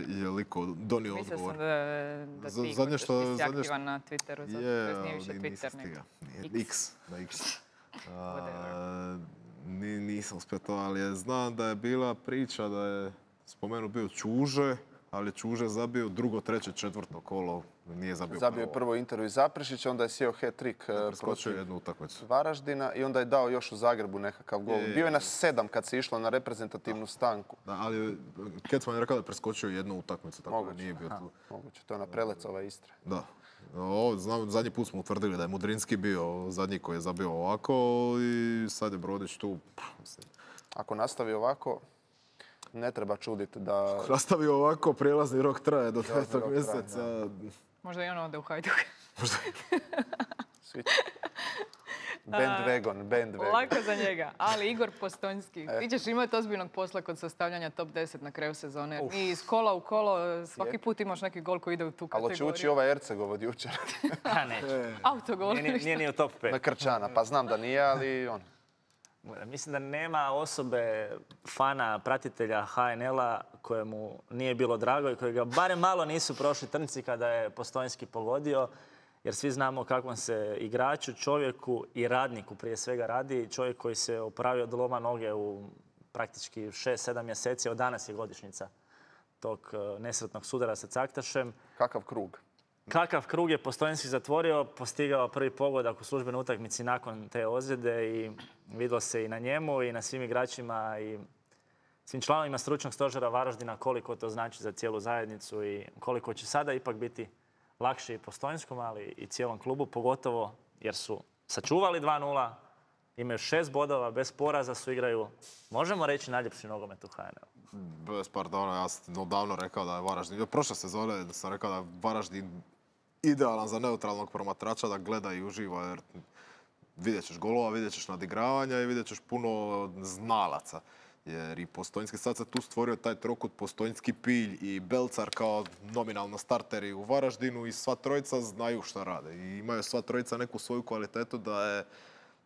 je liko donio odgovor. Mislio sam da ti nisi aktivan na Twitteru, zato nije više Twitter nego X. Na X. Nisam uspio to, ali znam da je bila priča da je spomenut bio Čuže, ali je Čuže zabio drugo, treće, četvrto kolo. Nije zabio prvo. Je prvo intervju iz Zaprešića, onda je sjeo hat-trick protiv Varaždina i onda je dao još u Zagrebu nekakav gol. Bio je na 7 kad se išlo na reprezentativnu stanku. Da, ali Kecman je rekao da je preskočio jednu utakmicu, tako da nije bio tu. Moguće, to je ona Prelecova Istre. Da. Zadnji put smo utvrdili da je Mudrinski bio zadnji koji je zabio ovako i sad je Brodić tu. Ako nastavi ovako, ne treba čuditi da... Nastavi ovako, prijelazni rok traje do 5. mjeseca. Možda i ono ode u Hajduk. Bandwagon. Lako za njega, ali Igor Postojnski. Ti ćeš imati ozbiljnog posla kod sastavljanja top 10 na kraju sezone. I iz kola u kolo svaki put imaš neki gol koji ide u tu kategoriju. Ali će ući ovaj Erceg od jučer. Neće. Autogol. Nije ni u top 5. Na Krčana, pa znam da nije, ali on. Mislim da nema osobe, fana, pratitelja HNL-a kojemu nije bilo drago i kojega barem malo nisu prošli trnci kada je Postojnski pogodio. Jer svi znamo kakvom se igraču, čovjeku i radniku prije svega radi. Čovjek koji se opravio od loma noge u praktički 6-7 mjeseci. Od danas je godišnjica tog nesretnog sudara sa Caktašem. Kakav krug je Postojnski zatvorio, postigao prvi pogodak u službenoj utakmici nakon te ozljede i vidjelo se i na njemu i na svim igračima i svim članovima stručnog stožera Varaždina koliko to znači za cijelu zajednicu i koliko će sada ipak biti lakše i Postojnskom, ali i cijelom klubu, pogotovo jer su sačuvali 2-0, imaju 6 bodova, bez poraza su igraju, možemo reći, najljepši nogomet u HNL. Bez pardona, ja sam odavno rekao da je Varaždin, prošle sezone sam rekao da je Varaždin idealan za neutralnog promatrača da gleda i uživa, jer vidjet ćeš golova, vidjet ćeš nadigravanja i vidjet ćeš puno znalaca. Jer i Postojnski sad se tu stvorio taj trokut Postojnski, Pilj i Belcar kao nominalno starteri u Varaždinu i sva trojica znaju šta rade. I imaju sva trojica neku svoju kvalitetu da je,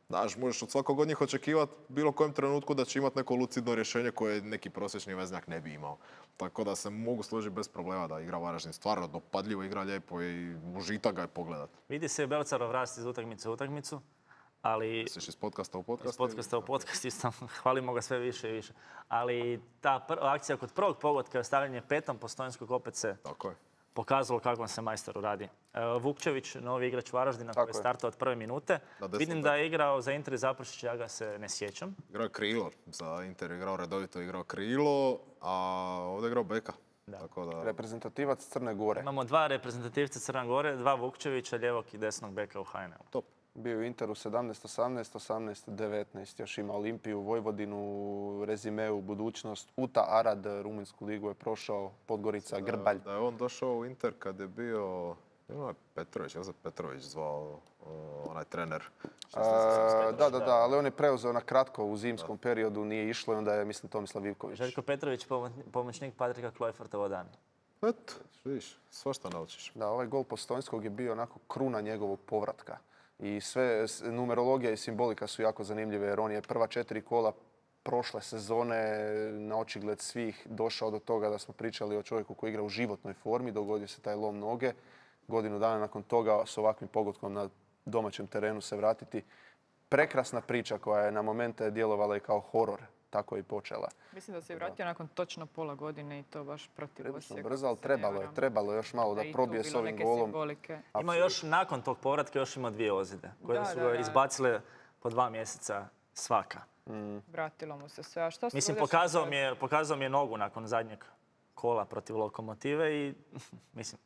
znaš, možeš od svakog od njih očekivati bilo kojem trenutku da će imati neko lucidno rješenje koje neki prosječni veznjak ne bi imao. Tako da se mogu složiti bez problema da igra Varaždin stvarno dopadljivo, igra lijepo i užitak ga je pogledati. Vidi se Belcarov rast iz utakmice u utakmicu. Ali, iz podcasta u podcast? Iz podcasta u podcast, isto, hvalimo ga sve više i više. Ali ta akcija kod prvog pogotka je ostavljanje petom Postojnskog opet se pokazalo kakvom se majstoru radi. Vukčević, novi igrač Varaždina koji je startao od prve minute. Vidim da je igrao za Inter i Zaprešić, ja ga se ne sjećam. Igrao je krilo, za Inter igrao redovito, igrao krilo, a ovdje je igrao beka. Reprezentativac Crne Gore. Imamo 2 reprezentativca Crne Gore, 2 Vukčevića, lijevog i desnog beka u HNL. Top. Bio u Interu 17-18, 18-19, još ima Olimpiju, Vojvodinu, Rezimeu, Budućnost, Uta, Arad, Rumunjsku ligu je prošao, Podgorica, Grbalj. Da je on došao u Inter kad je bio Petrović, Josip Petrović zvao onaj trener. Da, ali on je preuzeo na kratko u zimskom periodu, nije išlo i onda je, mislim, Tomislav Ivković. Željko Petrović, pomoćnik Patrika Klojfarta Vodani. Eto, vidiš, svašta naučiš. Da, ovaj gol Postojnskog je bio onako kruna njegovog povratka. I sve numerologija i simbolika su jako zanimljive jer on je prva 4 kola prošle sezone na očigled svih došao do toga da smo pričali o čovjeku koji igra u životnoj formi, dogodio se taj lom noge. Godinu dana nakon toga s ovakvim pogodkom na domaćem terenu se vratiti. Prekrasna priča koja je na momente djelovala i kao horor. Tako je i počela. Mislim da se je vratio nakon točno pola godine i to baš protiv Osijeka. Brzo, ali trebalo je još malo da probije s ovim golom. Ima još nakon tog povratka još ima 2 ozljede koje su ga izbacile po 2 mjeseca svaka. Vratilo mu se sve. A što mislim, pokazao mi je nogu nakon zadnjeg kola protiv Lokomotive i mislim,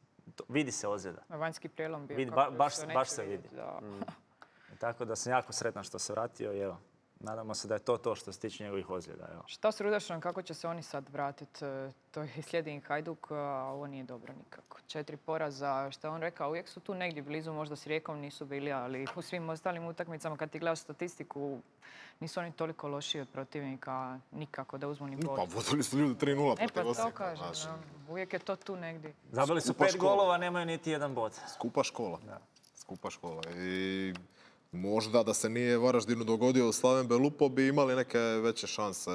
vidi se ozljeda. Vanjski prijelom bio. Baš se vidi. Tako da sam jako sretan što se vratio i evo. Nadamo se da je to što se tiče njegovih ozljeda. Evo. Šta s Rudašom, kako će se oni sad vratiti? To je slijedi im Hajduk, a ovo nije dobro nikako. 4 poraza, što je on rekao, uvijek su tu negdje blizu, možda s Rijekom nisu bili, ali u svim ostalim utakmicama, kad ti gledaš statistiku, nisu oni toliko loši od protivnika nikako da uzmu ni bod. Pa vodili su ljudi 3-0 protiv Osijeka. Pa to kažem, uvijek je to tu negdje. Zabili su 5 golova, nemaju niti 1 bod. Skupa škola. Skupa škola. I možda da se nije Varaždinu dogodio Slaven Belupo bi imali neke veće šanse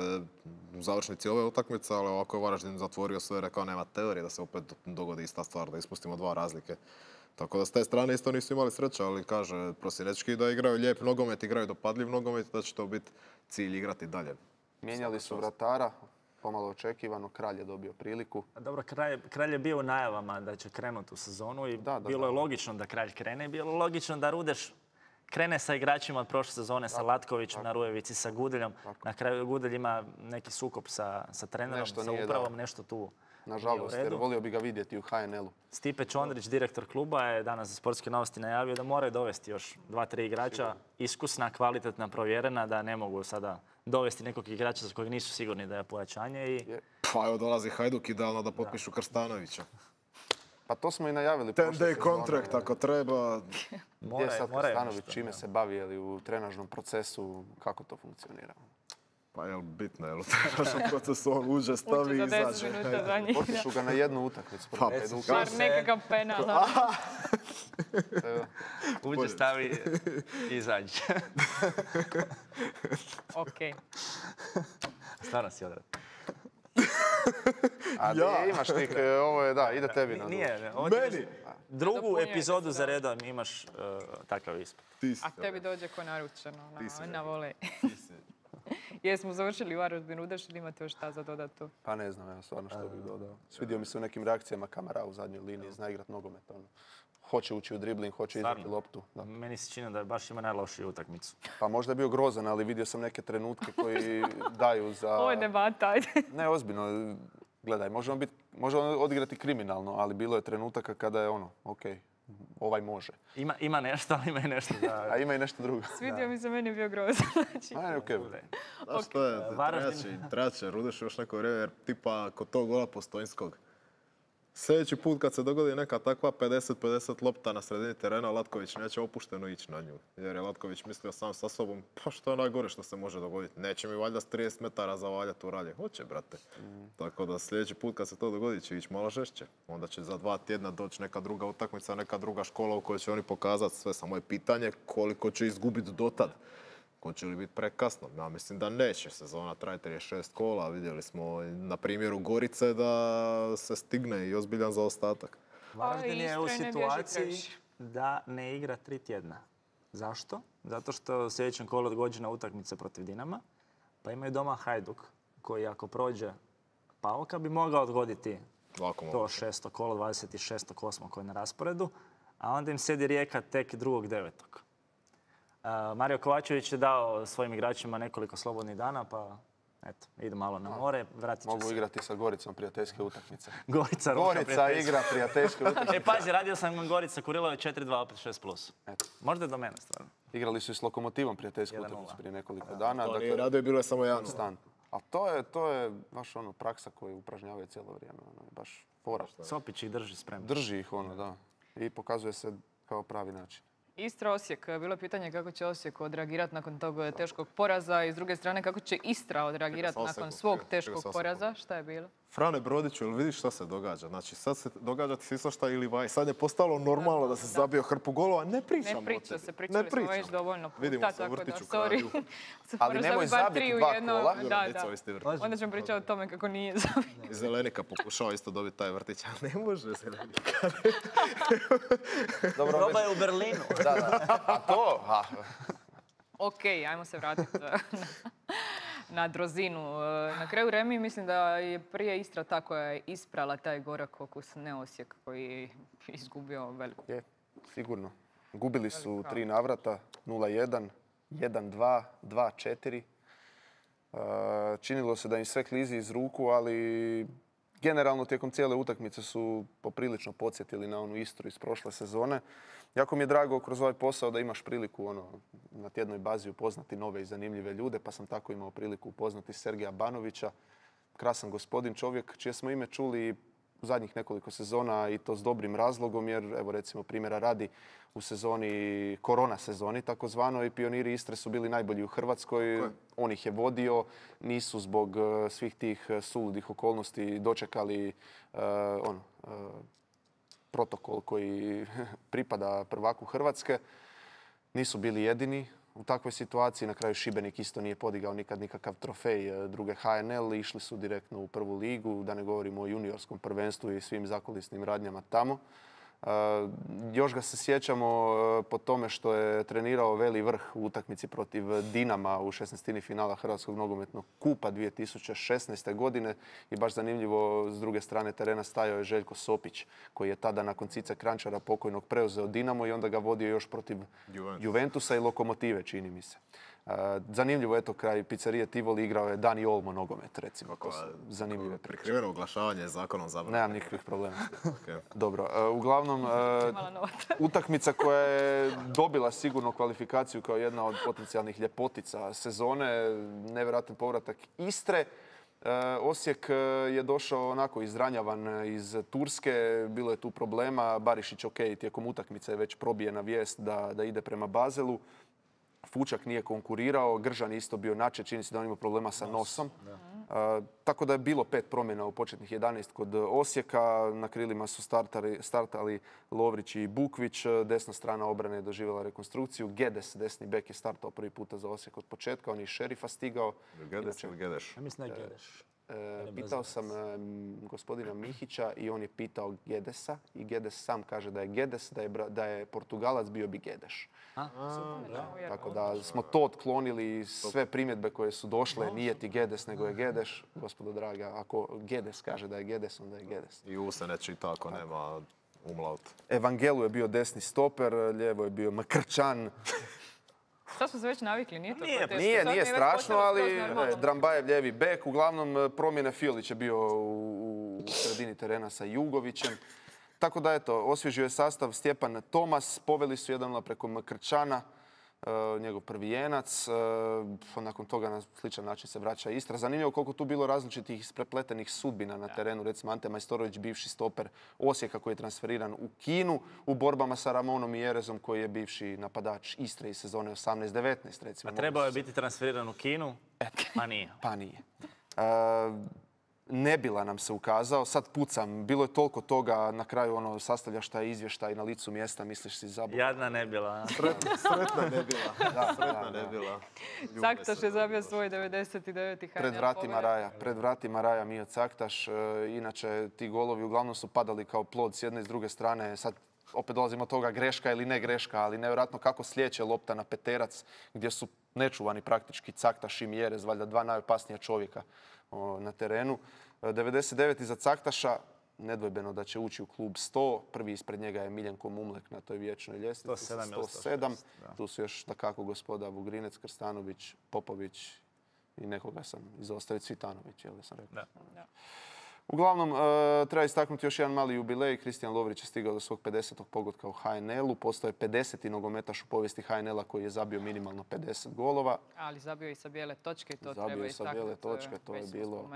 u završnici ove utakmice, ali ovako je Varaždin zatvorio sve, rekao nema teorije da se opet dogodi ista stvar, da ispustimo 2 razlike. Tako da s te strane isto nisu imali sreća, ali kaže Prosinečki da igraju lijep nogomet, igraju dopadljiv nogomet, da će to biti cilj igrati dalje. Mijenjali su vratara, pomalo očekivano, Kralj je dobio priliku. Dobro, Kralj je bio u najavama da će krenuti u sezonu i bilo je logično da Kralj krene, bilo logično da Rudeš krene sa igračima od prošle sezone, sa Latkovićem na Rujevici, sa Gudeljom. Na kraju Gudelj ima neki sukob sa trenerom, sa upravom, nešto tu. Nažalost, jer volio bi ga vidjeti u HNL-u. Stipe Čondrić, direktor kluba, je danas za Sportske novosti najavio da moraju dovesti još 2-3 igrača, iskusna, kvalitetna, provjerena, da ne mogu sada dovesti nekog igrača za kojeg nisu sigurni da je pojačanje. Pa evo dolazi Hajduk idealno da potpišu Krstanovića. Pa to smo i najavili 10 day contract ako treba. Gdje je sad Kostanović, čime se bavi, je li u trenažnom procesu, kako to funkcionira? Pa je li bitno, je li u trenažnom procesu on uđe, stavi i izađe. Uđe za 10 minuta za njih. Potišu ga na jednu utakmicu. Pa, Bar nekakav penal. Uđe, stavi i izađe. Okej. Stvarno si odred. A imaš tih, ovo je, da, ide tebi na Nije, Meni! drugu Nadopunjujete epizodu se, za da. redom imaš takav ispit. Ti si. A tebi dođe ko naručeno si, na volej. Jesmo završili Varaždin Udaš ili imate još šta za dodatu? Pa ne znam, evo stvarno što bih dodao. Svidio mi se u nekim reakcijama Kamara u zadnjoj liniji, zna igrat nogomet. Ono. Hoće ući u dribling, hoće izdati Stvarno? loptu. Da. Meni se čini da baš ima najlošiju utakmicu. Pa možda je bio grozan, ali vidio sam neke trenutke koji daju za... Ovo je debata, ajde. Ne, ozbiljno. Gledaj, može on odigrati kriminalno, ali bilo je trenutaka kada je ono, okej, ovaj može. Ima nešto, ali ima i nešto da... A ima i nešto drugo. Svidio mi se, meni je bio grozan. Znači, A, okej. Znaš što je, Varaždin. trebat će Rudeš još neko vrijeme, jer tipa kod tog gola Postojnskog. Sljedeći put kad se dogodi neka takva 50-50 lopta na sredini terena, Latković neće opušteno ići na nju. Jer je Latković mislio sam sa sobom, pa što je najgore što se može dogoditi. Neće mi valjda s 30 metara zavaljati u ralje. Hoće, brate. Tako da sljedeći put kad se to dogodi će ići malo žešće. Onda će za 2 tjedna doći neka druga utakmica, neka druga škola u kojoj će oni pokazati sve. Samo je pitanje koliko će izgubiti dotad. Hoće li biti prekasno? Ja mislim da neće. Sezona traje 36 kola. Vidjeli smo na primjeru Gorice da se stigne i ozbiljan zaostatak. Varaždin je u Istra ne bježi situaciji previše. da ne igra 3 tjedna. Zašto? Zato što u sljedećem kolu odgođena utakmica protiv Dinama, pa imaju doma Hajduk, koji ako prođe Pauka bi mogao odgoditi Lako to mogu. 6. kolo, 26.8. koje je na rasporedu, a onda im slijedi Rijeka tek 2.9. Mario Kovačević je dao svojim igračima nekoliko slobodnih dana, pa eto, idu malo na more, vratit će Mogu se. igrati sa Goricom prijateljske utakmice. Gorica, Roka, Gorica prijateljska. igra prijateljske utakmice. E, pazi, radio sam Gorica Kurilović 4-2, opet 6+. Eto. Možda je do mene, stvarno. Igrali su i s Lokomotivom prijateljsku 1:0. utakmicu prije nekoliko dana. To Dakle, nije radio, bilo je samo jedan. konstantno. A to je baš ono praksa koju upražnjavaju cijelo vrijeme. Ono, baš fora. Sopić ih drži spremno. Drži ih ono, da. I pokazuje se kao pravi način. Istra Osijek, bilo je pitanje kako će Osijek odreagirati nakon tog teškog poraza i s druge strane kako će Istra odreagirati Čekaj, samo nakon sekund, svog čekaj, teškog samo poraza. Šta je bilo? Frane Brodiću, jel vidiš šta se događa? Znači, sad se događa ti se isto šta ili vaj. Sad je postalo normalno da se zabio hrpu golova. Ne pričamo Ne priča o tebi. se, pričali smo već dovoljno puta, Vidimo se u tako da, vrtiću sorry. kralju. Ali Moraš nemoj bar zabiti 3 u 2 jednom. kola. Da, Dico, da. vi ste vrtić. Onda ćemo pričati o tome kako nije zabio. I Zelenika pokušao isto dobiti taj vrtić, ali ne može Zelenika. Dobro, Proba je u Berlinu. A to? Ok, ajmo se vratiti na Drozinu. Na kraju Remi mislim da je prije Istra ta koja je isprala taj gorak okus, ne Osijek koji je izgubio veliku. Je, sigurno. Gubili su 3 navrata, 0-1, 1-2, 2-4. Činilo se da im sve klizi iz ruku, ali generalno tijekom cijele utakmice su poprilično podsjetili na onu Istru iz prošle sezone. Jako mi je drago kroz ovaj posao da imaš priliku na tjednoj bazi upoznati nove i zanimljive ljude, pa sam tako imao priliku upoznati Sergeja Banovića. Krasan gospodin, čovjek čije smo ime čuli u zadnjih nekoliko sezona i to s dobrim razlogom, jer evo recimo primjera radi u sezoni, korona sezoni takozvanoj, pioniri Istre su bili najbolji u Hrvatskoj. On ih je vodio, nisu zbog svih tih suludih okolnosti dočekali protokol koji pripada prvaku Hrvatske. Nisu bili jedini u takvoj situaciji. Na kraju Šibenik isto nije podigao nikad nikakav trofej druge HNL. Išli su direktno u prvu ligu, da ne govorimo o juniorskom prvenstvu i svim zakulisnim radnjama tamo. Još ga se sjećamo po tome što je trenirao Veli Vrh u utakmici protiv Dinama u 16. finala Hrvatskog nogometnog kupa 2016. godine. I baš zanimljivo, s druge strane terena stajao je Željko Sopić, koji je tada nakon Cice Kranjčara pokojnog preuzeo Dinamo i onda ga vodio još protiv Juventusa i Lokomotive, čini mi se. Zanimljivo, eto, kraj pizzerije Tivoli igrao je Dani Olmo nogomet, recimo. To su zanimljive priče. Prikriveno oglašavanje je zakonom zabranjeno. Nemam nikakvih problema. Okay. Dobro, uglavnom, utakmica koja je dobila sigurno kvalifikaciju kao jedna od potencijalnih ljepotica sezone, nevjerojatan povratak Istre Osijek je došao onako izranjavan iz Turske, bilo je tu problema. Barišić, ok, tijekom utakmice je već probijena vijest da ide prema Bazelu. Fučak nije konkurirao, Gržan je isto bio načet, čini se da on ima problema sa nosom. Tako da je bilo 5 promjena u početnih 11 kod Osijeka. Na krilima su startali Lovrić i Bukvić. Desna strana obrane je doživjela rekonstrukciju. Gedes, desni bek, je startao prvi puta za Osijek od početka. On je iz Šerifa stigao. Gedes ili Gedeš? Ja mislim da je Gedeš. Pitao sam gospodina Mihića i on je pitao Gedesa. I Gedes sam kaže da je Gedes, da je Portugalac, bio bi Gedeš. Tako da smo to otklonili, sve primjedbe koje su došle, nije ti Gedes nego je Gedeš. Gospodo draga, ako Gedes kaže da je Gedes, onda je Gedes. I U se ne čita ako nema umlaut. Evangelu je bio desni stoper, lijevo je bio Mkrčan. Sad smo se već navikli, nije to Nije, teško. Nije strašno, ali normalno. Drambajev lijevi bek. Uglavnom, promjene Fiolić je bio u sredini terena sa Jugovićem. Tako da, eto, osvježio je sastav Stjepan Tomas. Poveli su 1-0 preko Mkrčana, njegov prvijenac. Nakon toga na sličan način se vraća Istra. Zanimljivo koliko tu bilo različitih isprepletenih sudbina na terenu. Recimo Ante Majstorović, bivši stoper Osijeka koji je transferiran u Kinu u borbama sa Ramonom i Jerezom koji je bivši napadač Istre iz sezone 18-19. Recimo. A trebao je biti transferiran u Kinu, a nije. Pa nije. Nebila nam se ukazao, sad pucam, bilo je toliko toga, na kraju sastavljaš taj izvještaj na licu mjesta, misliš si zabavno. Jadna Nebila. Sretna Nebila. Sretna Nebila. Caktaš je zabio svoj 99. HNL. Pred vratima Raja Mio Caktaš. Inače, ti golovi uglavnom su padali kao plod s jedne i s druge strane. Sad opet dolazimo od toga greška ili ne greška, ali nevjerojatno kako slijeće lopta na peterac gdje su nečuvani praktički Caktaš i Mjerez, valjda 2 najopasnija čovjeka na terenu. 99. za Caktaša, nedvojbeno da će ući u klub 100. Prvi ispred njega je Miljenko Mumlek na toj vječnoj ljestvici. 107. Tu su još takako gospoda Vugrinec, Krstanović, Popović i nekoga sam izostavio, Cvitanović, jel da sam rekao. Da. Uglavnom, treba istaknuti još jedan mali jubilej. Kristijan Lovrić je stigao do svog 50. pogotka u HNL-u. Postao je 50. nogometaš u povijesti HNL-a koji je zabio minimalno 50 golova. Ali zabio i sa bijele točke, to zabio treba istaknuti. Zabio i sa bijele točke, to je bilo...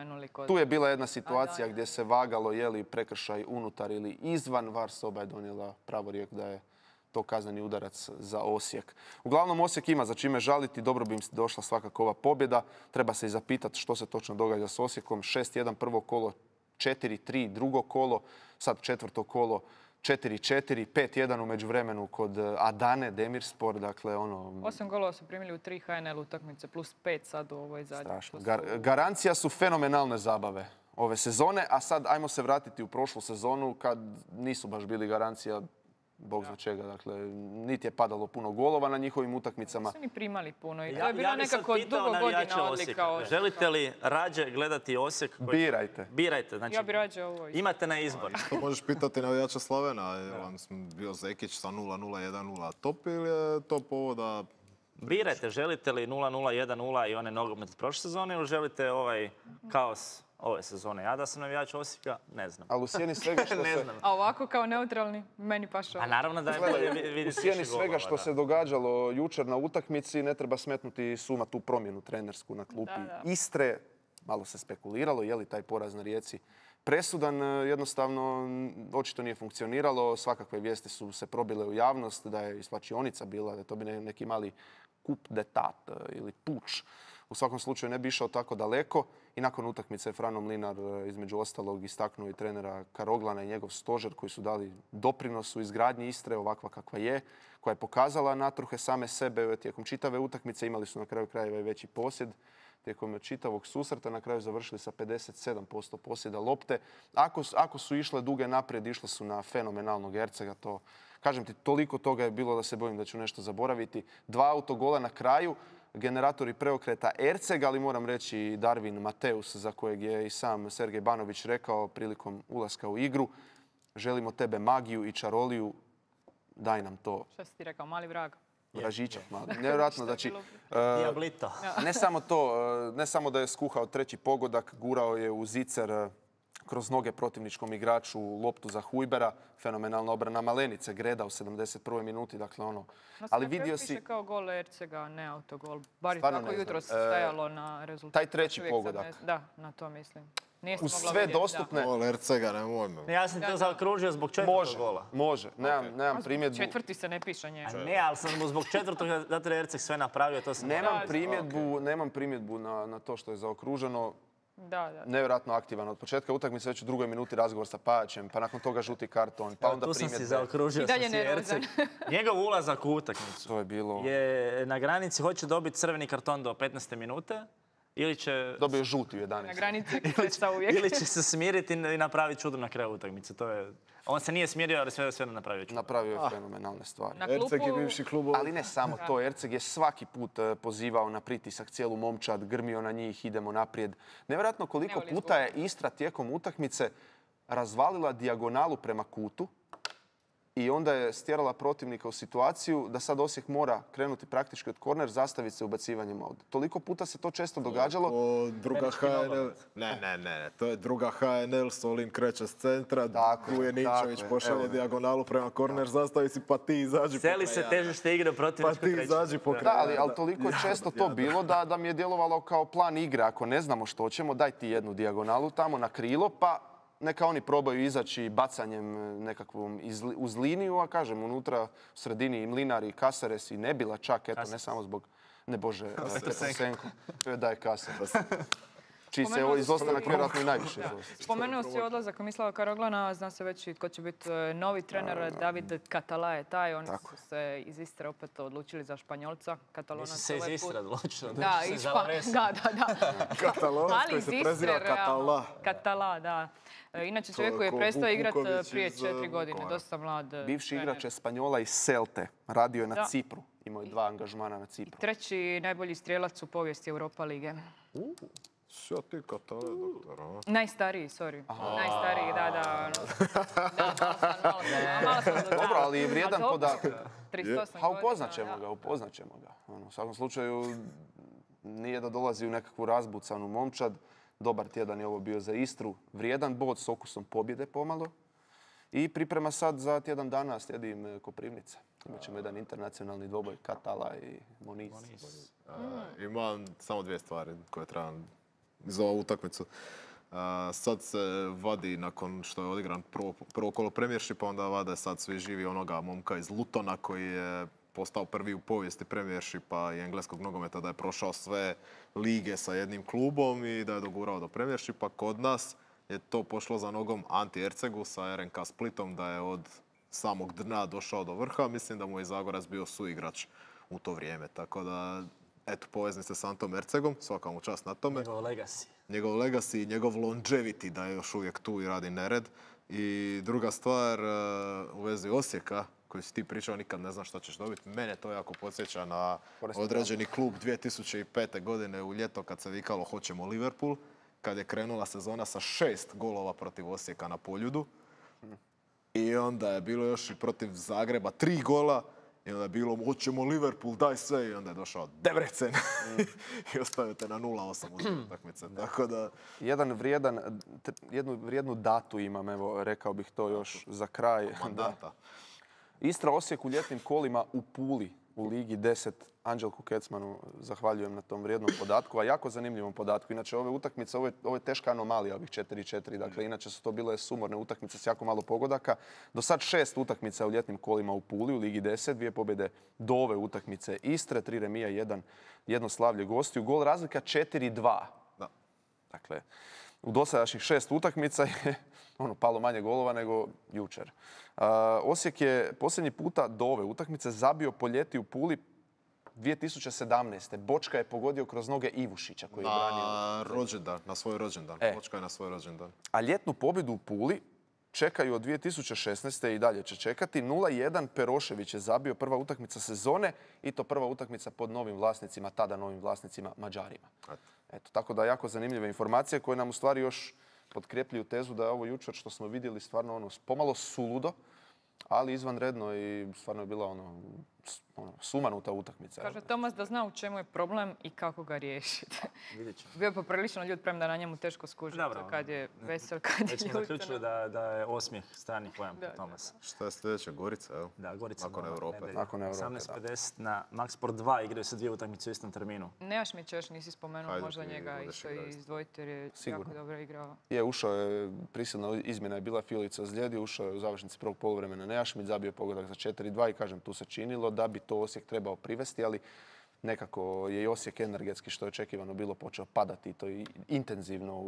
Tu je bila jedna situacija gdje se vagalo je li prekršaj unutar ili izvan. VAR soba je donijela pravorijek da je to kazneni udarac za Osijek. Uglavnom, Osijek ima za čime žaliti. Dobro bi im došla svakako ova pobjeda. Treba se i zapitati što se točno događa s Osijekom. 6-1 prvo kolo, 4-3 drugo kolo, sad četvrto kolo 4-4, 5-1 u međuvremenu kod Adane, Demirspor, dakle 8 golova su primili u 3 HNL utakmice, plus 5 sad u ovoj zadnji. Strašno. Garancija su fenomenalne zabave ove sezone, a sad ajmo se vratiti u prošlu sezonu kad nisu baš bili garancija Bog zna čega, dakle, niti je padalo puno golova na njihovim utakmicama. Nisu ni primali puno i to je bila nekako dugo godina odlika. Želite li rađe gledati Osijek? Birajte. Birajte, znači ja bi rađe ovo. Imate na izbor. To možeš pitati navijača Slavena, je vam bio Zekić sa 0-0, 1-0 top ili je to povoda? Birajte, želite li 0-0, 1-0 i one nogomet prošle sezone ili želite ovaj kaos ove sezone? Ja da sam navijač Osijeka, ne znam. Ali u sjeni svega što se... A ovako kao neutralni, meni paša. A naravno da je bolje vidjeti. U sjeni svega što se događalo jučer na utakmici, ne treba smetnuti suma tu promjenu trenersku na klupi Istre. Malo se spekuliralo, je li taj poraz na Rijeci presudan. Jednostavno, očito nije funkcioniralo. Svakakve vijesti su se probile u javnost, da je i svačionica bila, da je to bi neki mali coup d'etat ili puč. U svakom slučaju ne bi išao tako daleko i nakon utakmice Frano Mlinar između ostalog istaknuo i trenera Karoglana i njegov stožer koji su dali doprinos u izgradnji Istre ovakva kakva je, koja je pokazala natruhe same sebe tijekom čitave utakmice. Imali su na kraju krajeva i veći posjed tijekom čitavog susreta. Na kraju završili sa 57% posjeda lopte. Ako su išle duge naprijed, išle su na fenomenalnog Ercega. To, kažem ti, toliko toga je bilo da se bojim da ću nešto zaboraviti. 2 autogola na kraju. Generatori preokreta Erceg, ali moram reći i Darvin Mateus, za kojeg je i sam Sergej Banović rekao prilikom ulaska u igru. Želimo tebe magiju i čaroliju, daj nam to. Šta si ti rekao, mali vrag? Vražićak mali. Nevjerojatno, znači... Diablito. Ne samo to, ne samo da je skuhao treći pogodak, gurao je u zicer kroz noge protivničkom igraču, loptu za Hujbera, fenomenalna obrana Malenice, Greda u 71. minuti, dakle ono. Ali vidio si... Piše kao gol Ercega, ne autogol. Bar je Stvarno tako ne znam. jutro stajalo na rezultatu. Taj treći Uvijek sam pogodak. Da, na to mislim. Nije se Uz mogla sve vidjeti, dostupne... Gol Ercega, nemojmo. Ja sam to zaokružio zbog četvrtog gola. Može. Nemam primjedbu. Četvrti se ne piše njega. A ne, ali sam mu zbog četvrtog, zato je Erceg sve napravio, to sam... Nemam primjedbu na to što je zaokruženo. Da. Nevjerojatno aktivan. Od početka utakmice već u 2. minuti razgovor sa Pajačem, pa nakon toga žuti karton, pa onda Tu sam primjedbe. si zaokružio I dalje sam si nervozan. Erceg. Njegov ulazak u utakmicu To je bilo... je na granici, hoće dobiti crveni karton do 15. minute ili će... Dobio je žuti u 11. Na granici klesa uvijek. Ili će se smiriti i napraviti čudo na kraju utakmice. On se nije smirio, ali sve napravio čudo. Napravio je fenomenalne stvari. Na Erceg je klupu, bivši klub. Ali ne samo to, Erceg je svaki put pozivao na pritisak cijelu momčad, grmio na njih, idemo naprijed. Nevjerojatno koliko puta je Istra tijekom utakmice razvalila dijagonalu prema kutu i onda je stjerala protivnika u situaciju da sad Osijek mora krenuti praktički od korner, zastaviti se ubacivanjem ovdje. Toliko puta se to često događalo. Druga HNL. Ne. To je druga HNL, Solin kreće s centra, Kujeničević pošalje dijagonalu prema korner, zastavi si pa ti izađi. Seli se težište igre protiv Pa ti izađi po Da, ali toliko toliko to bilo da mi je djelovalo kao plan igre. Ako ne znamo što ćemo, daj ti jednu dijagonalu tamo na krilo, pa neka oni probaju izaći bacanjem nekakvom uz liniju, a kažem, unutra u sredini i Mlinar i Kasares i Nebila čak, eto, ne samo zbog, ne Bože, Teposenko. Da je Kasares. Čiji se izostanak vjerojatno i najviše izostanak. Spomenuo si odlazak Mislava Karoglana, zna se već i tko će biti novi trener, David Catala je taj. Oni su se iz Istre opet odlučili za Španjolca. Katalonac Nisu se iz Istre odlučili. Da, da. Katalonac koji se preziva Catala. Catala, da. Inače čovjek koji je prestao igrati prije 4 godine, dosta mlad. Bivši igrač Espanjola iz Celte, radio je na Cipru. Imao je 2 angažmana na Cipru. Treći najbolji strijelac u povijesti Europa lige. Što ti Catala, doktor? Najstariji, sorry. Najstariji, da. Malo sam Dobro, ali je vrijedan podatak. 38 godina. A upoznat ćemo ga. U svakom slučaju nije da dolazi u nekakvu razbucanu momčad. Dobar tjedan je ovo bio za Istru. Vrijedan bod s okusom pobjede pomalo. I priprema sad za tjedan dana slijedim Koprivnica. Imat ćemo jedan internacionalni dvoboj Catala i Moniz. Imam samo 2 stvari koje trebam za ovu utakmicu. Sad se vadi, nakon što je odigran prvo kolo Premiershipa, onda vade sad svi živi onoga momka iz Lutona koji je postao prvi u povijesti Premiershipa i engleskog nogometa, da je prošao sve lige sa jednim klubom i da je dogurao do Premiershipa. Kod nas je to pošlo za nogom Anti Ercegu sa RNK Splitom, da je od samog dna došao do vrha. Mislim da mu je Zagorac bio suigrač u to vrijeme. Tako da, eto, poveznice s Antom Ercegom, svaka mu čast na tome. Njegov legacy i njegov longevity, da je još uvijek tu i radi nered. I druga stvar, u vezi Osijeka, koji si ti pričao, nikad ne znaš što ćeš dobiti. Mene to jako podsjeća na određeni klub 2005. godine u ljeto kad se vikalo hoćemo Liverpool, kad je krenula sezona sa 6 golova protiv Osijeka na Poljudu. I onda je bilo još i protiv Zagreba 3 gola. I onda je bilo hoćemo Liverpool, daj sve. I onda je došao Debrecen i ostavio te na 0-8 u utakmice. Tako da... Jednu vrijednu datu imam, evo, rekao bih to još za kraj. Mandata. Istra Osijek u ljetnim kolima u Puli u Ligi 10. Anđelku Kecmanu zahvaljujem na tom vrijednom podatku, a jako zanimljivom podatku. Inače, ove utakmice, ovo je teška anomalija, ovih 4-4. Dakle, inače su to bile sumorne utakmice s jako malo pogodaka. Do sad 6 utakmica u ljetnim kolima u Puli u Ligi 10. 2 pobjede do ove utakmice Istre, 3 remija, 1 slavlje gostiju. Gol razlika 4-2. Dakle, u dosadašnjih 6 utakmica je palo manje golova nego jučer. Osijek je posljednji puta do ove utakmice zabio po ljeti u Puli 2017. Bočka je pogodio kroz noge Ivušića koji je branio. Na svoj rođendan. Bočka je na svoj rođendan. A ljetnu pobjedu u Puli čekaju od 2016. i dalje će čekati. 0-1 Perošević je zabio, prva utakmica sezone i to prva utakmica pod novim vlasnicima, tada novim vlasnicima Mađarima. Eto, tako da jako zanimljive informacije koje nam u stvari još potkrepljuju tezu da je ovo jučer što smo vidjeli stvarno pomalo suludo, ali izvanredno i stvarno je bila sumanuta utakmica. Kaže Tomas da zna u čemu je problem i kako ga riješiti. Vidjet ćemo. Bio je poprilično ljud, premda na njemu teško skužiti kad je vesel, kad je Već smo ljud. zaključili da je osmijeh strani pojam po Tomasa. Šta je sljedeća? Gorica, evo? Da, Gorica Nakon doma, Europe. nedelja. Nakon Europe, 18:50 na Maxsport 2 igraju se 2 utakmice u istom terminu. Nejašmić još nisi spomenuo, Hajde možda ti njega budeš isto igrao. izdvojiti jer je Sigurno. jako dobro igrao. Je, ušao je, prisilna izmjena je bila, Filica ozlijedi, ušao je u završnici prvog poluvremena Nejašmić, zabio je pogodak za 4-2 i kažem, tu se činilo da bi to Osijek trebao privesti, ali nekako je i Osijek energetski, što je očekivano bilo, počeo padati i to i intenzivno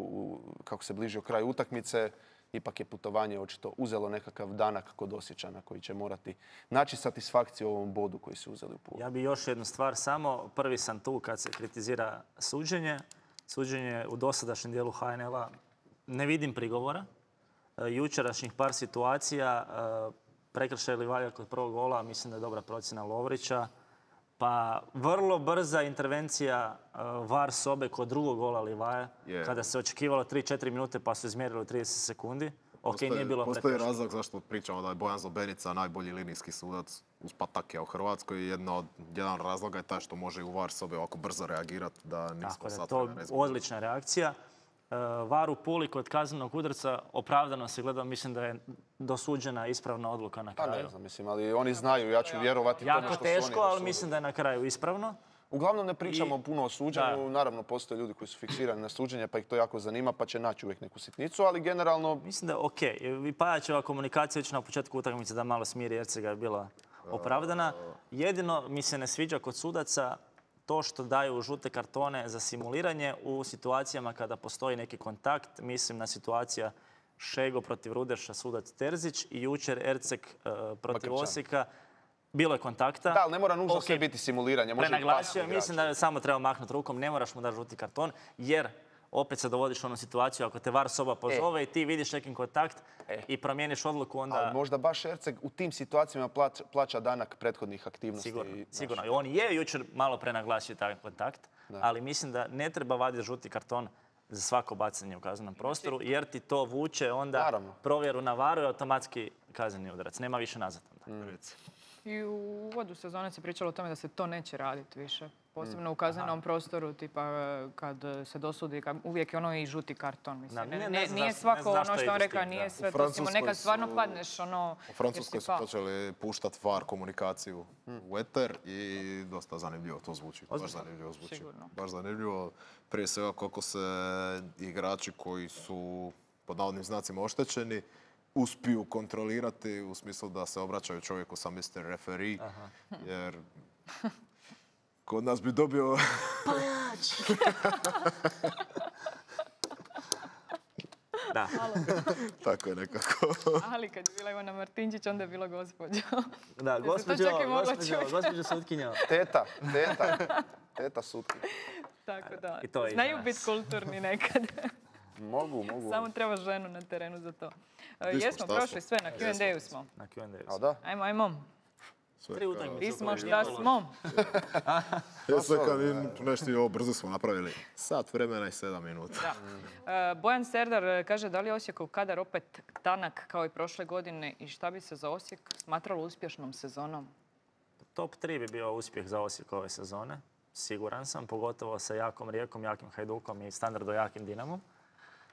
kako se bližio kraj utakmice. Ipak je putovanje očito uzelo nekakav danak kod Osječana koji će morati naći satisfakciju u ovom bodu koji su uzeli u Pulu. Ja bi još jednu stvar samo. Prvi sam tu kad se kritizira suđenje. Suđenje u dosadašnjem dijelu HNL-a ne vidim prigovora. Jučerašnjih par situacija, prekršaj Livaja kod prvog gola, mislim da je dobra procjena Lovrića. Pa vrlo brza intervencija VAR sobe kod drugog gola Livaja, kada se očekivalo 3-4 minute pa su izmjerili 30 sekundi. Ok, nije bilo Postoji prekršaja. razlog zašto pričamo da je Bojan Zobenica najbolji linijski sudac uz Patakija u Hrvatskoj. Jedan razlog je taj što može i u VAR sobe ovako brzo reagirati da nismo Tako da, sad to vremena je izgubili. odlična reakcija. VAR u Puli kod kaznenog udarca opravdano se gleda, mislim da je dosuđena ispravna odluka na Pa kraju. ne znam, mislim, ali oni znaju, ja ću vjerovati tome Jako što su teško, oni ali dosudili. mislim da je na kraju ispravno. Uglavnom ne pričamo puno o suđenju, Da. naravno postoje ljudi koji su fiksirani na suđenje pa ih to jako zanima pa će naći uvijek neku sitnicu, ali generalno Mislim da je ok. I Pajačeva komunikacija već na početku utakmice da malo smiri Ercega je bila opravdana. Jedino mi se ne sviđa kod sudaca to što daju žute kartone za simuliranje u situacijama kada postoji neki kontakt. Mislim na situacija Šego protiv Rudeša, sudac Terzić i jučer Erceg protiv Makrčan. Osijeka. Bilo je kontakta. da, ali ne mora nužno Ok, sve biti simuliranje. Može i Prenaglasio, pasivni igrač. mislim da samo treba mahnuti rukom, ne moraš mu dati žuti karton, jer opet se dovodiš u onu situaciju ako te VAR soba pozove i ti vidiš nekim kontakt i promijeniš odluku, onda Ali možda baš Erceg u tim situacijama plaća danak prethodnih aktivnosti. sigurno. I on je jučer malo prenaglasio taj kontakt, ali mislim da ne treba vaditi žuti karton za svako bacanje u kaznenom prostoru, jer ti to vuče onda Naravno. provjeru na VAR-u i automatski kazneni udarac. Nema više nazad onda. I u uvodu sezone se pričalo o tome da se to neće raditi više. Posebno u kaznenom prostoru, tipa kad se dosudi, uvijek je ono i žuti karton. Mislim. Nije svako ono što on rekao, nije sve to. Nekad stvarno padneš ono... U Francuskoj su počeli puštati VAR komunikaciju u eter i dosta zanimljivo to zvuči. Baš zanimljivo zvuči. Sigurno. Baš zanimljivo. Prije svega kako se igrači koji su pod navodnim znacima oštećeni uspiju kontrolirati u smislu da se obraćaju čovjeku sa Mr. Referee. Jer kod nas bi dobio... Da. Tako je nekako. Ali kad je bila Ivana Martinčić, onda je bilo gospođo. Da, to čak i mogla čuti. gospođo sutkinja. Teta sutkinja. Tako da, I to je znaju iza nas. biti kulturni nekad. Mogu. Samo treba ženu na terenu za to. smo, Jesmo šta prošli smo? sve, na Q&A-u smo. Na Q&A. A da? Ajmo. 3 utakmice. Di smo, šta smo? Ja sve kad nešto ovo brzo smo napravili. Sat vremena i 7 minuta. Bojan Serdar kaže da li je Osijekov kadar opet tanak kao i prošle godine i šta bi se za Osijek smatralo uspješnom sezonom? Top 3 bi bio uspjeh za Osijek ove sezone. Siguran sam, pogotovo sa jakom Rijekom, jakim Hajdukom i standardno jakim Dinamom.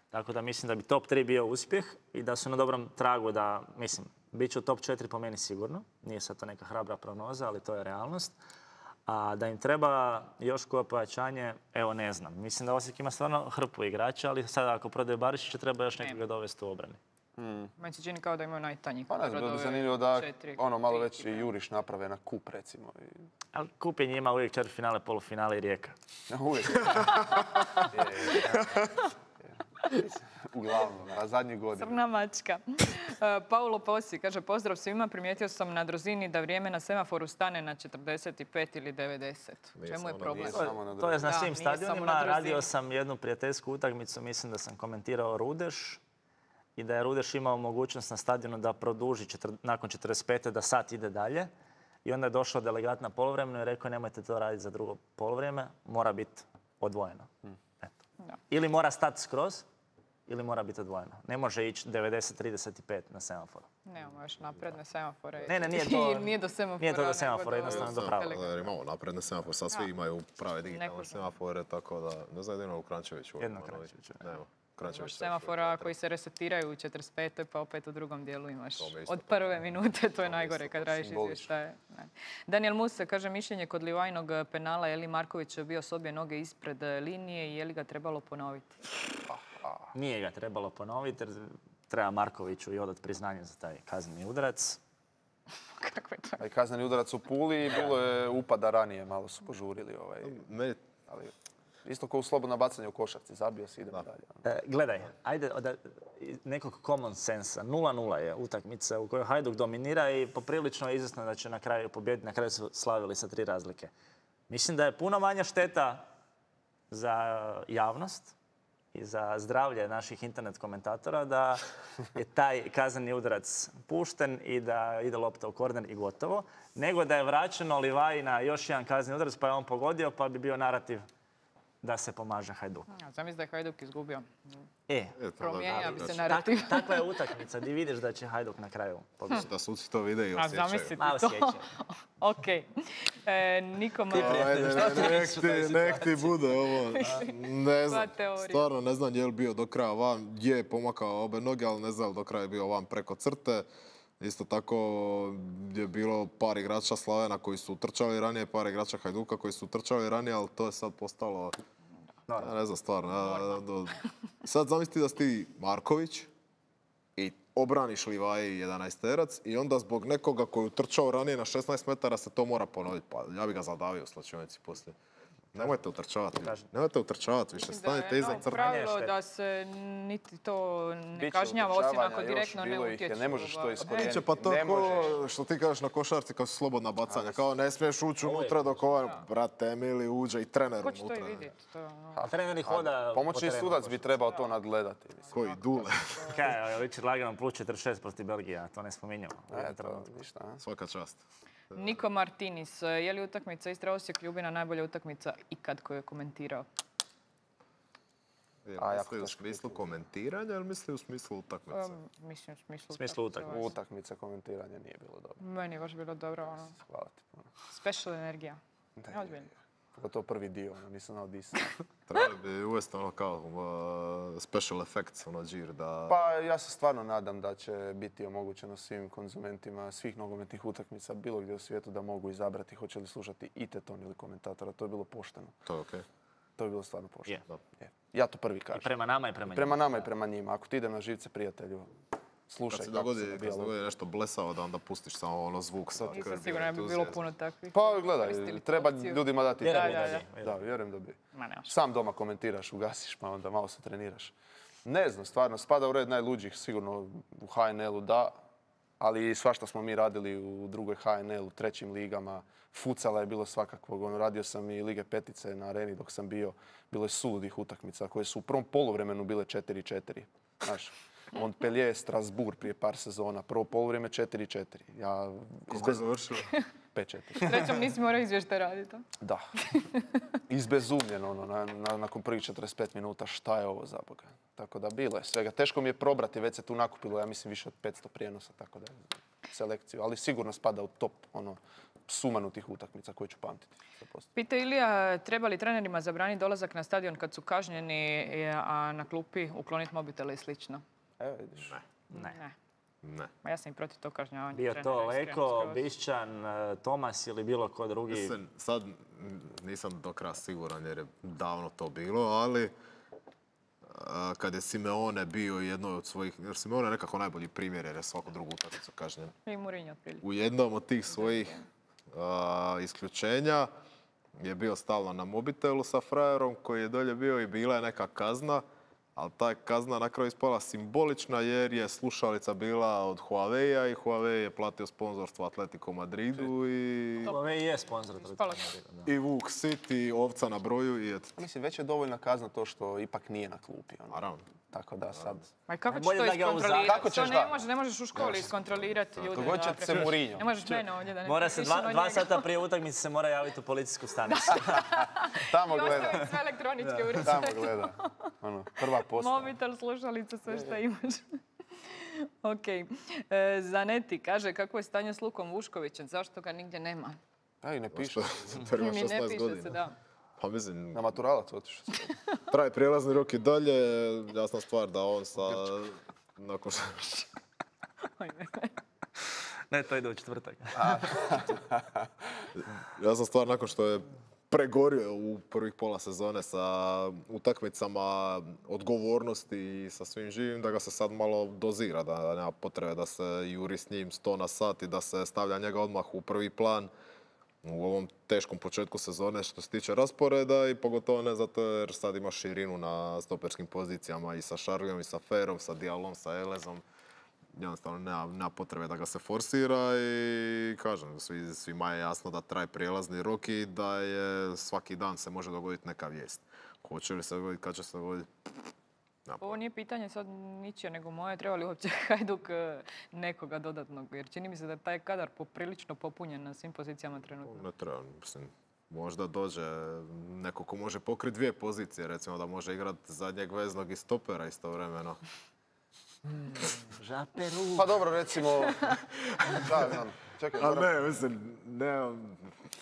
Tako da mislim da bi top 3 bio uspjeh i da su na dobrom tragu da, mislim, bit će u top 4 po meni sigurno. Nije sad to neka hrabra prognoza, ali to je realnost. A da im treba još koje pojačanje, evo ne znam. Mislim da Osijek ima stvarno hrpu igrača, ali sada ako prodaje Barišića treba još nekoga dovesti u obrani. Meni se čini kao da imaju najtanji Pa ne znam, kadar bilo od bi ove zanimljivo da 4, malo 3 već ekipe. juriš naprave na kup recimo. Ali kupljenje ima uvijek četvrtfinale, polufinale i Rijeka. Uvijek. Uglavnom, na zadnji godinu. Crna mačka. Paulo Posi kaže, pozdrav svima, primijetio sam na Drozini da vrijeme na semaforu stane na 45 ili 90. U čemu je problem? To je na Da, svim nije samo na stadionima. Drozini. Radio sam jednu prijateljsku utakmicu, mislim da sam komentirao Rudeš i da je Rudeš imao mogućnost na stadionu da produži nakon 45. da sat ide dalje. I onda je došao delegat na poluvremenu i rekao nemojte to raditi za drugo poluvrijeme, mora biti odvojeno. Eto. Da. Ili mora stati skroz ili mora biti odvojeno. Ne može ići 90-35 na semaforu. Nemamo još napredne semafore. Ne, nije to... Nije do semafora. Nije to do semafora, jednostavno do prava. Jer imamo napredne semafore, sad svi imaju prave digitalne semafore, tako da ne znam jedino u Krančeviću. Jedno Krančeviću. Imaš semafora koji se resetiraju u 45. pa opet u drugom dijelu imaš od prve minute, to je najgore kad radiš izvještaje. Daniel Musa kaže mišljenje kod Livajnog penala, je li Marković bio s obje noge ispred linije i je li ga trebalo ponoviti? Nije ga trebalo ponoviti jer treba Markoviću i odati priznanje za taj kazneni udarac. Kako je to? Kazneni udarac u Puli, bilo je upada ranije, malo su požurili. Ali isto kao u slobodno bacanje u košarci, zabio si, idemo dalje. Gledaj, ajde od nekog common sensa. 0-0 je utakmica u kojoj Hajduk dominira i poprilično je izvjesno da će na kraju pobijediti. Na kraju su slavili sa 3 razlike. Mislim da je puno manja šteta za javnost i za zdravlje naših internet komentatora da je taj kazneni udarac pušten i da ide lopta u korner i gotovo, nego da je vraćeno Livaji na još jedan kazneni udarac pa je on pogodio pa bi bio narativ da se pomaže Hajduku. Zamisli da je Hajduk izgubio. Promijenja bi se narativ. Takva je utakmica gdje vidiš da će Hajduk na kraju pobijediti. Da suci to vide i osjećaju. A zamisliti Malo to. osjećaju. Ok. Niko Nek ti bude ovo. Ne znam, stvarno ne znam je li bio do kraja van. Je pomakao obe noge, ali ne znam do kraja je bio van preko crte. Isto tako je bilo par igrača Slavena koji su trčali ranije, par igrača Hajduka koji su trčali ranije, ali to je sad postalo... Ja ne znam, stvarno. Sad zamisli da si ti Marković i obraniš Livaji 11-terac i onda zbog nekoga koji je trčao ranije na 16 metara se to mora ponoviti. Pa ja bi ga zadavio u slačionici poslije. Nemojte utrčavati više. Stanite iza crta. Pravilo da se niti to ne kažnjava, osim ako direktno ne utječu. Ne možeš to iskorijeniti. Neće, pa to što ti kažeš na košarci kao su slobodna bacanja. Kao ne smiješ ući unutra dok ovaj, brate, Emili uđe i trener unutra. Ko će to i vidjeti? Trener hoda... Pomoćni sudac bi trebao to nadgledati. Koji dule. Kaj, Richard Laganom plus 46 protiv Belgija, to ne spominjamo. Svaka čast. Niko Martinis, je li utakmica Istra Osijek Ljubina najbolja utakmica ikad koju je komentirao? Misli u smislu komentiranja ili misli u smislu utakmice? Mislim u smislu utakmice. Utakmica komentiranja nije bilo dobro. Meni je baš bilo dobro. Hvala ti puno. Special energija. Ozbiljno. To prvi dio, nisam znao disati. Trebali bi uvesti ono kao special effects, ono džir da... Pa ja se stvarno nadam da će biti omogućeno svim konzumentima svih nogometnih utakmica bilo gdje u svijetu da mogu izabrati hoće li slušati i teton ili komentatora. To je bilo pošteno. To je okej. To je bilo stvarno pošteno. Ja to prvi kažem. I prema nama i prema njima. Prema nama i prema njima. Ako ti idem na živce prijatelju, slušaj. Kad se dogodi nešto blesavo da onda pustiš samo ono zvuk sa krvi. Nisam sigurno bi bilo puno takvih. Pa gledaj, treba ljudima dati da. Da, vjerujem da bi. Sam doma komentiraš, ugasiš pa onda malo se treniraš. Ne znam, stvarno, spada u red najluđih, sigurno u HNL-u da, ali svašta smo mi radili u drugoj HNL-u, trećim ligama. Fucala je bilo svakakvog. Radio sam i Lige petice na areni dok sam bio. Bilo je suludih utakmica koje su u prvom poluvremenu bile 4-4. Znaš, Montpellier, Strasbourg prije par sezona. Prvo poluvrijeme 4-4. Kako je završilo? 5-4. Srećom nisi morao izvještaj raditi. Da. Izbezumljen nakon prvih 45 minuta. Šta je ovo za Boga? Tako da bilo je svega. Teško mi je probrati, već se tu nakupilo, ja mislim, više od 500 prijenosa, tako da je selekciju. Ali sigurno spada u top sumanutih utakmica koje ću pamtiti. Pita Ilija, treba li trenerima zabraniti dolazak na stadion kad su kažnjeni, a na klupi ukloniti mobitele i slično? Evo vidiš. Ne. Ma ja sam i protiv tog kažnjavanja. Bio to Leko, Bišćan, Tomas ili bilo ko drugi. Sad nisam do kraja siguran jer je davno to bilo, ali kad je Simeone bio jednoj od svojih, jer Simeone je nekako najbolji primjer jer je svaku drugu utakmicu kažnjen. I Mourinho otprilike. U jednom od tih svojih isključenja je bio stalno na mobitelu sa frajerom koji je dolje bio i bila je neka kazna, ali ta kazna na kraju ispala simbolična jer je slušalica bila od Huawei-a i Huawei je platio sponzorstvo Atletico Madridu i... Huawei je sponzor Atletico Madridu. I Vuk City, ovca na broju i eto. Mislim, već je dovoljna kazna to što ipak nije na klupi. Naravno. tako da sad... Ma kako ćeš Bolje to da ga iskontrolirati? Kako ćeš To ne možeš u školi iskontrolirati ljude. Dogod će se Mourinho. Ne možeš mene ovdje da ne Mora se pišem o 2 njega. sata prije utakmice se mora javiti u policijsku stanicu. Tamo I gleda. ostaviti sve elektroničke uređaje. Tamo gleda. Ono, prva postava. Mobitel, slušalice, sve što imaš. Ok. Zaneti kaže kako je stanje s Lukom Vuškovićem, zašto ga nigdje nema? Da, i ne piše. Prema Mi ne 16 piše godina. se, da. Pa mislim, Na maturalac otišao. traje prijelazni rok i dalje. Jasna stvar da on sa... Nakon što... Oj, ne. Ne, to ide u četvrtak. Jasna stvar nakon što je pregorio u prvih pola sezone sa utakmicama odgovornosti i sa svim živim, da ga se sad malo dozira, da nema potrebe da se juri s njim 100 na sat i da se stavlja njega odmah u prvi plan u ovom teškom početku sezone što se tiče rasporeda i pogotovo ne zato jer sad ima širinu na stoperskim pozicijama i sa Šarlijom i sa Ferom, sa Dialom, sa Elezom. Jednostavno nema potrebe da ga se forsira i kažem, svima je jasno da traje prijelazni rok i da je svaki dan se može dogoditi neka vijest. Hoće li se dogoditi, kad će se dogoditi? Ovo nije pitanje sad ničije, nego moje. Treba li uopće Hajduk nekoga dodatnog? Jer čini mi se da je taj kadar poprilično popunjen na svim pozicijama trenutno. Ne treba, mislim, možda dođe neko ko može pokriti 2 pozicije, recimo da može igrati zadnjeg veznog i stopera istovremeno. Žaperu. Pa dobro, recimo... Da, znam. Čekaj, A moram... ne, mislim, ne...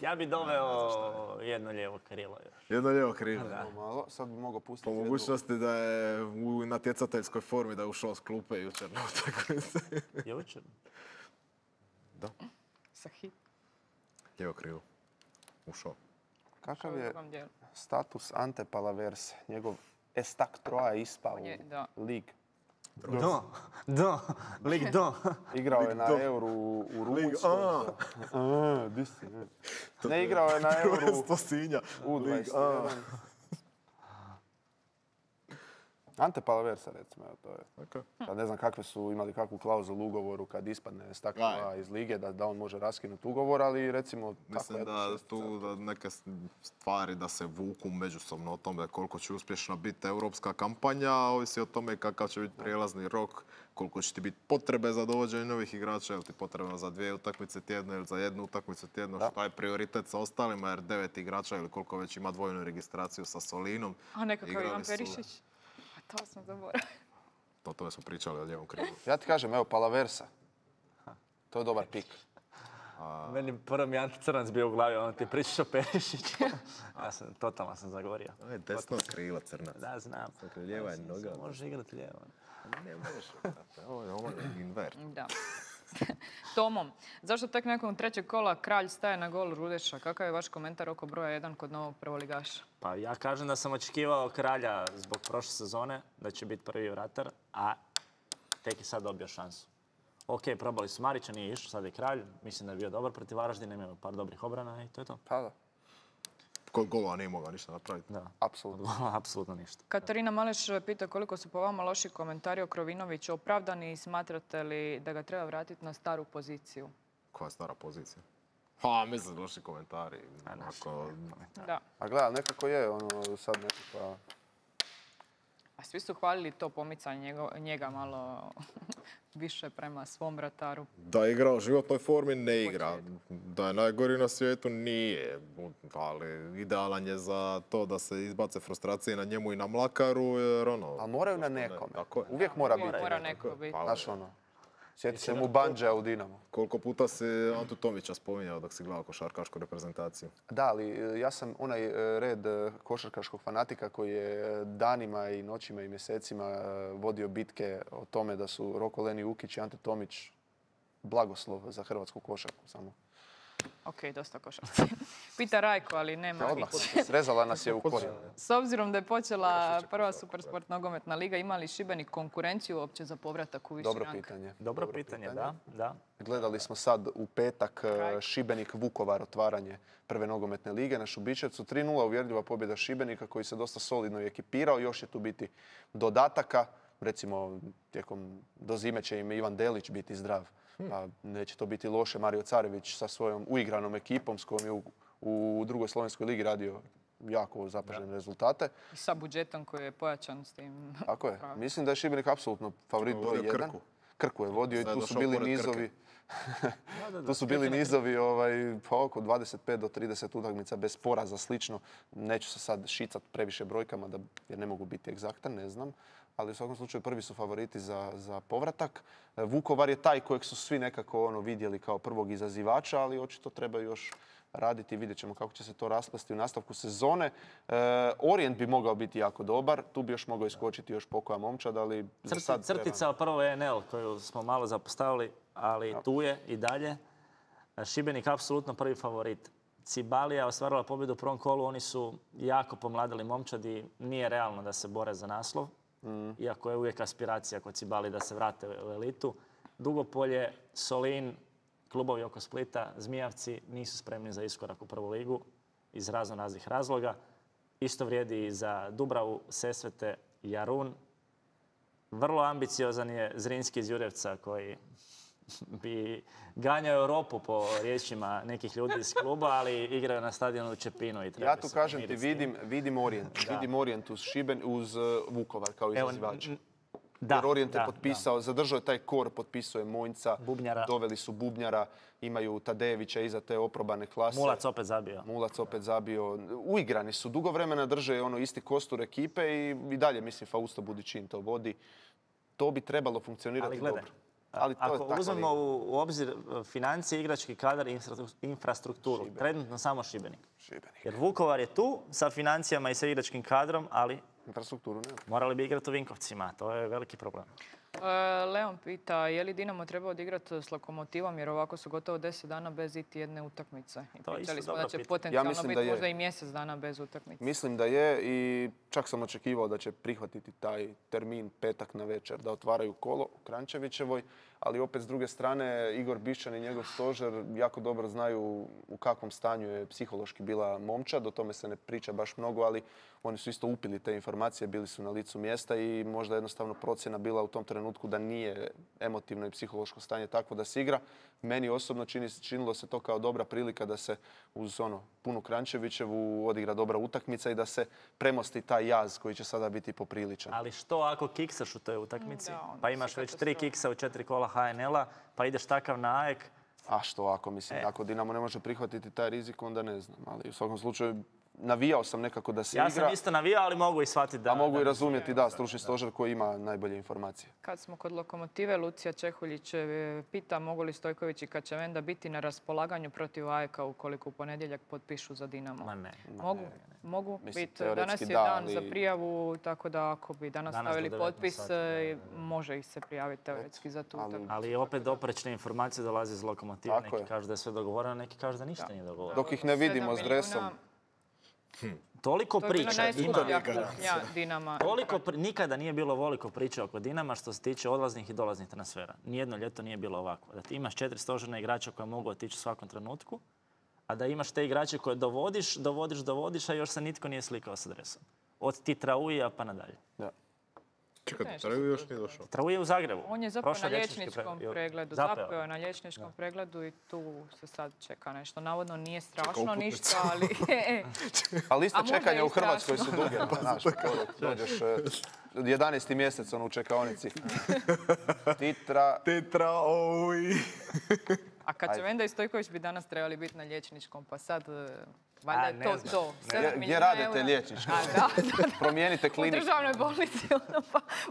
Ja bi doveo jedno lijevo krilo još. Jedno lijevo krilo. Malo, sad bi mogao pustiti Po jednu... mogućnosti da je u natjecateljskoj formi, da je ušao s klupe jučer na utakmici. Jučer? Da, Sa hit. lijevo krilo. Ušao. Kakav u je drugom dijelu. status Ante Palaverse? Njegov Estak Troa je ispao On je, da. u lig. Do, lig do. Igrao je na Euru u Rumunjskoj. Di si? Ne, igrao je na Euru To Sinja. u 21. Ante Palaversa, recimo, evo, to je. Okay. Sad ne znam kakve su imali kakvu klauzulu u ugovoru kad ispadne Stakla iz lige, da on može raskinuti ugovor, ali recimo... Mislim da tu da neke stvari da se vuku međusobno o tome koliko će uspješna biti europska kampanja, ovisi o tome kakav će biti prijelazni rok, koliko će ti biti potrebe za dovođenje novih igrača, ili ti potrebno za 2 utakmice tjedno ili za 1 utakmicu tjedno, šta je prioritet sa ostalima, jer 9 igrača ili koliko već ima dvojnu registraciju sa Solinom. A nekakav Igrali Ivan su- Perišić. A to sam zaboravila. O tome smo pričali o lijevom krilu. Ja ti kažem, evo, Palaversa. To je dobar pik. Meni prvo mi je Ante Crnac bio u glavi, ono ti pričaš o Perišiću. Totalno sam zagovorio. Ovo je desno krilo crnac. Da, znam. Lijeva je noga. Može igrati lijevo. Ne može. Ovo je invert. Da. Tomo, zašto tek nakon 3. kola Kralj staje na gol Rudeša? Kakav je vaš komentar oko broja 1 kod novog prvoligaša? Pa ja kažem da sam očekivao Kralja zbog prošle sezone, da će biti prvi vratar, a tek je sad dobio šansu. Ok, probali su Marića, nije išao, sad je Kralj. Mislim da je bio dobar protiv Varaždina, imao par dobrih obrana i to je to. Pa da, Kod gola nije mogao ništa napraviti. Da, apsolutno. apsolutno ništa. Katarina Maleš pita koliko su po vama loši komentari o Krovinoviću opravdani i smatrate li da ga treba vratiti na staru poziciju? Koja je stara pozicija? Ha, mislim, loši komentari. Ako... Da. A gledaj, nekako je ono sad nekakva... A svi su hvalili to pomicanje njega malo više prema svom vrataru. Da igra u životnoj formi, ne igra. Da je najgori na svijetu, nije. Ali idealan je za to da se izbace frustracije na njemu i na Mlakaru, jer ono... Ali moraju na nekome. Tako je. Uvijek mora biti. Mora neko biti. Pa, Znaš ono, sjeti se mu Bandža u Dinamo. koliko puta si Antu Tomića spominjao dok si gledao košarkašku reprezentaciju? Da, ali ja sam onaj red košarkaškog fanatika koji je danima i noćima i mjesecima vodio bitke o tome da su Roko Leni Ukić i Ante Tomić blagoslov za hrvatsku košarku samo. Ok, dosta košarci. Pita Rajko, ali nema. Odmah, srezala nas je u korijen. S obzirom da je počela prva Supersport nogometna liga, ima li Šibenik konkurenciju uopće za povratak u viši Dobro rang? pitanje. Dobro pitanje, da. Gledali smo sad u petak Šibenik-Vukovar otvaranje prve nogometne lige na Šubićevcu. 3:0 uvjerljiva pobjeda Šibenika koji se dosta solidno i ekipirao. Još je tu biti dodataka. Recimo, do zime će im Ivan Delić biti zdrav. Pa neće to biti loše. Mario Carević sa svojom uigranom ekipom s kojom je u drugoj slovenskoj ligi radio jako zapažene rezultate. I sa budžetom koji je pojačan s tim. Tako je. Mislim da je Šibenik apsolutno favorit broj 1. Krku je vodio i tu su bili nizovi. Tu su bili nizovi pa oko 25 do 30 utakmica bez poraza, slično. Neću se sad šicat previše brojkama jer ne mogu biti egzaktan, ne znam. Ali u svakom slučaju prvi su favoriti za povratak. Vukovar je taj kojeg su svi nekako vidjeli kao prvog izazivača, ali očito treba još raditi. Vidjet ćemo kako će se to rasplesti u nastavku sezone. Orient bi mogao biti jako dobar. Tu bi još mogao iskočiti još pokoja momčad, ali za sad crtica prvo je NL koju smo malo zapostavili, ali tu je i dalje. Šibenik apsolutno prvi favorit. Cibalija ostvarila pobjedu u prvom kolu. Oni su jako pomladili momčad i nije realno da se bore za naslov. Iako je uvijek aspiracija kod Cibali da se vrate u elitu. Dugopolje, Solin, klubovi oko Splita, Zmijavci nisu spremni za iskorak u prvu ligu iz raznih razloga. Isto vrijedi i za Dubravu, Sesvete, Jarun. Vrlo ambiciozan je Zrinski iz Jurjevca koji bi ganjao Europu po riječima nekih ljudi iz kluba, ali igraju na stadionu u Čepinu. Ja tu kažem ti, vidim Orient. Vidim Orient uz Vukovar kao izazivač. Jer Orient je potpisao, zadržao je taj kor, potpisao je Monjca, doveli su Bubnjara, imaju Tadejevića iza te oprobane klase. Mulac opet zabio. Uigrani su, dugo vremena drže isti kostur ekipe i dalje, mislim, Fausto Budičin to vodi. To bi trebalo funkcionirati dobro. Ako uzmemo u obzir financije, igrački kadar i infrastrukturu, trenutno samo Šibenik. Jer Vukovar je tu sa financijama i sa igračkim kadrom, ali infrastrukturu nema. Morali bi igrati u Vinkovcima, to je veliki problem. Leon pita, je li Dinamo trebao odigrati s Lokomotivom, jer ovako su gotovo 10 dana bez iti jedne utakmice. Pitali smo da će potencijalno biti možda i mjesec dana bez utakmice. Mislim da je i čak sam očekivao da će prihvatiti taj termin petak na večer, da otvaraju kolo u Kranjčevićevoj, ali opet s druge strane Igor Bišćan i njegov stožer jako dobro znaju u kakvom stanju je psihološki bila momčad, o tome se ne priča baš mnogo, ali oni su isto upili te informacije, bili su na licu mjesta i možda jednostavno procjena bila u tom trenutku da nije emotivno i psihološko stanje takvo da se igra. Meni osobno činilo se to kao dobra prilika da se uz punu Kranjčevićevu odigra dobra utakmica i da se premosti taj jaz koji će sada biti popriličan. Ali što ako kiksaš u toj utakmici? Pa imaš već 3 kiksa u 4 kola HNL-a, pa ideš takav na AEK. A što ako, mislim, ako Dinamo ne može prihvatiti taj rizik, onda ne znam. Ali u svakom slučaju navijao sam nekako da se igra. Ja sam isto navijao, ali mogu i shvatiti da... A mogu i razumjeti, stručni stožer koji ima najbolje informacije. Kad smo kod Lokomotive, Lucija Čehuljić pita mogu li Stojković i Kačavenda biti na raspolaganju protiv AEK-a ukoliko u ponedjeljak potpišu za Dinamo. Ma ne. Mogu biti. Danas je dan za prijavu, tako da ako bi danas stavili potpis, može ih se prijaviti teoretski za tu utakmicu. Ali opet oprečne informacije dolaze iz Lokomotive. Neki kažu da je sve dogovoreno, neki kažu da ništa nije dogovoreno. Dok ih ne vidimo s dresom. Toliko priča Dinama. Nikada nije bilo ovoliko priča oko Dinama što se tiče odlaznih i dolaznih transfera. Nijedno ljeto nije bilo ovako. Da ti imaš 4 stožerna igrača koja mogu otići u svakom trenutku, a da imaš te igrače koje dovodiš, a još se nitko nije slikao sa dresom. Od Titraujija pa nadalje. Čekaj, Trauje još nije došao. Trauje u Zagrebu. On je zapravo na liječničkom pregledu. Zapeo je na liječničkom pregledu i tu se sad čeka nešto. Navodno nije strašno ništa, ali... Ali liste čekanja u Hrvatskoj su duge. Dođeš 11. mjesec u čekaonici. Titrauje. A Kačavenda i Stojković bi danas trebali biti na liječničkom, pa sad... Valjda je to. Gdje radite liječnički? Promijenite kliniku. U državnoj bolnici,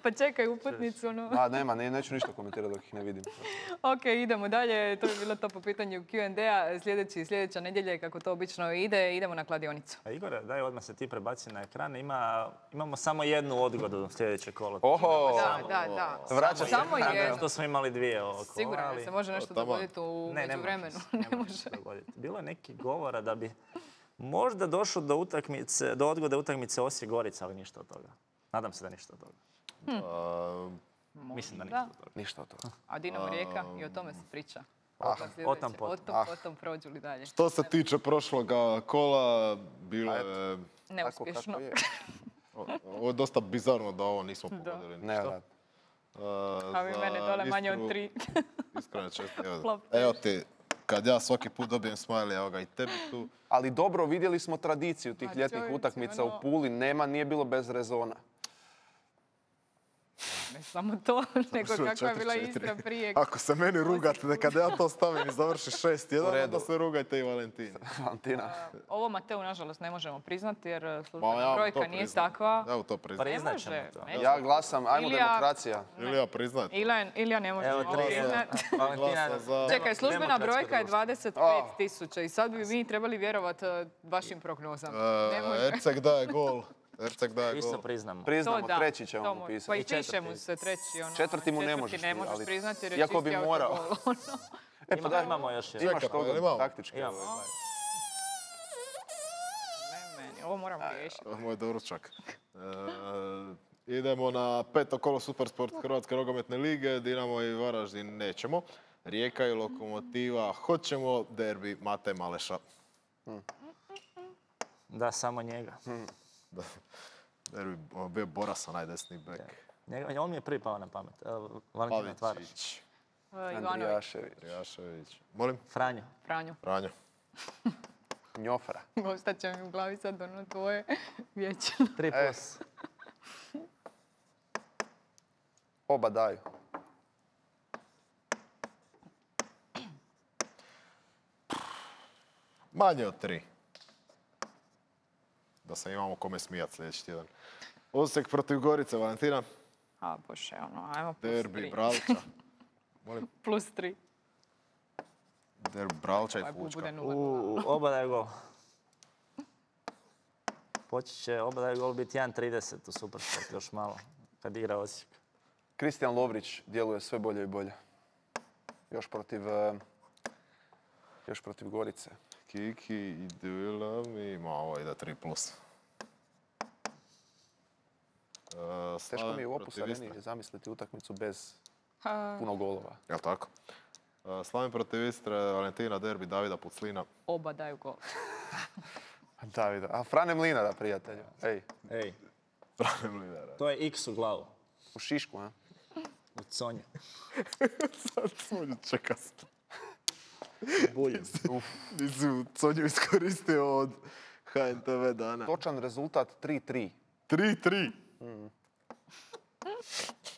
pa čekaj uputnicu. Nema, neću ništa komentirati dok ih ne vidim. Ok, idemo dalje. To je bilo to po pitanju Q&A. Sljedeća nedjelja, kako to obično ide, idemo na kladionicu. Igore, daj odmah se ti prebaci na ekran. Imamo samo jednu odgodu sljedeće kolo. Oho! Da. Vraća se. Samo jednu. To smo imali 2 ovo kola. Sigurno se može nešto dogoditi u međuvremenu. Ne može. Bilo je neki govora da bi možda došlo do odgode utakmice Osijek-Gorica, ali ništa od toga. Nadam se da ništa od toga. Mislim da ništa od toga. Ništa od toga. A Dinamo Rijeka i o tome se priča. Potom prođu li dalje. Što se tiče prošloga kola, bilo je... Neuspješno. Ovo je dosta bizarno da ovo nismo pogodili ništa. A vi mene dole manje od 3. Iskreno čest. Evo ti kad ja svaki put dobijem smajli, evo ga i tebi tu. Ali dobro, vidjeli smo tradiciju tih ljetnih čovječe, utakmica ono- u Puli. Nije bilo bez rezona. Ne samo to, nego Što, kakva je bila 4-4. Istra prije. Ako se meni rugate, da kada ja to stavim i završi 6-1, U redu. onda se rugajte i Valentini. Valentina. Ovo Mateu nažalost ne možemo priznati jer Ma, službena ja vam brojka to nije priznam. takva. Evo to priznam. Ne Priznat ćemo može. to. neće. Ja glasam, ajmo Ilija- demokracija. Ili ja priznat. Ilija ne može Evo, tri. priznati. Valentina, Glasa za- Čekaj, službena demokratsko brojka je društvo. 25.000 i sad bi mi trebali vjerovati vašim prognozama. Ne može. Erceg daje gol. Erceg daje Isto gol. priznamo. Priznamo, da, treći ćemo to mu Pa pisati. i I četvrti. piše mu se treći. Ono, Četvrti mu ne četvrti možeš, ne možeš ali- priznati jer je iako bi čisti morao. autogol, ono. Pa daj, Imamo još jedan. Imaš Čekaj, pa toga, imamo. taktički. Imamo. Ne meni, ovo moram riješiti. Ovo je moj doručak. Idemo na 5. kolo Supersport Hrvatske nogometne lige. Dinamo i Varaždin nećemo. Rijeka i Lokomotiva hoćemo. Derbi Mate Maleša. Da, samo njega. Derbi bio Boras, onaj desni bek. On mi je prvi pao na pamet. Valentina otvaraš. Pavičić, Ivanović, Andrijašević. Trijašević. Molim? Franjo. Franjo. Franjo. Njofra. Ostat će mi u glavi sad ono tvoje vijeće. 3+. Oba daju. Manje od 3. Da se imamo kome smijat sljedeći tjedan. Osijek protiv Gorice, Valentina. A bože, ono, ajmo plus Derbi 3. Bralča. Molim? Plus 3. Derbi Bralča i Aj, Fučka. bude 0. Oba daje gol. Počet će oba daje gol biti 1.30 u Supersport još malo. Kad igra Osijek. Kristijan Lovrić djeluje sve bolje i bolje. Još protiv Gorice. Kiki i Do You Love Me. Ma, ovo ide 3+. Teško mi je u Opus protiv Areni Istre. zamisliti utakmicu bez puno golova. Jel' tako? Slaven protiv Istre, Valentina, derbi Davida Puclina. Oba daju gol. Davida. A Frane Mlinara, prijatelju. Ej, Ej, Frane Mlinara. to je X u glavu. u Šišku, a? U Conje. Sad Sonju čeka se. Buljem. Nisu Sonju iskoristio od HNTV dana. Točan rezultat 3-3. 3-3.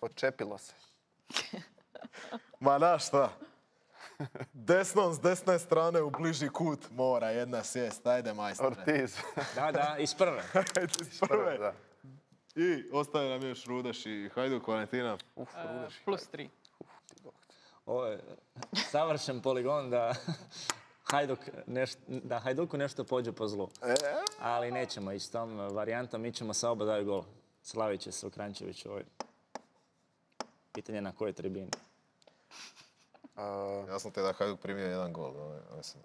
Odčepilo se. Ma na šta? Desnom s desne strane u bliži kut mora jedna sjest. Ajde, majstore. Ortiz. Da, iz prve. Ajde, iz prve. Da. I ostaje nam još Rudeš i Hajduk, Valentina. Rudeš. Plus 3. Ovo je savršen poligon da Hajduku nešto pođe po zlu. Ali nećemo ići s tom varijantom, mi ćemo sa oba daju gol. Slavit će se u Kranjčeviću. Pitanje na kojoj tribini. Jasno ti je da je Hajduk primio jedan gol. Mislim,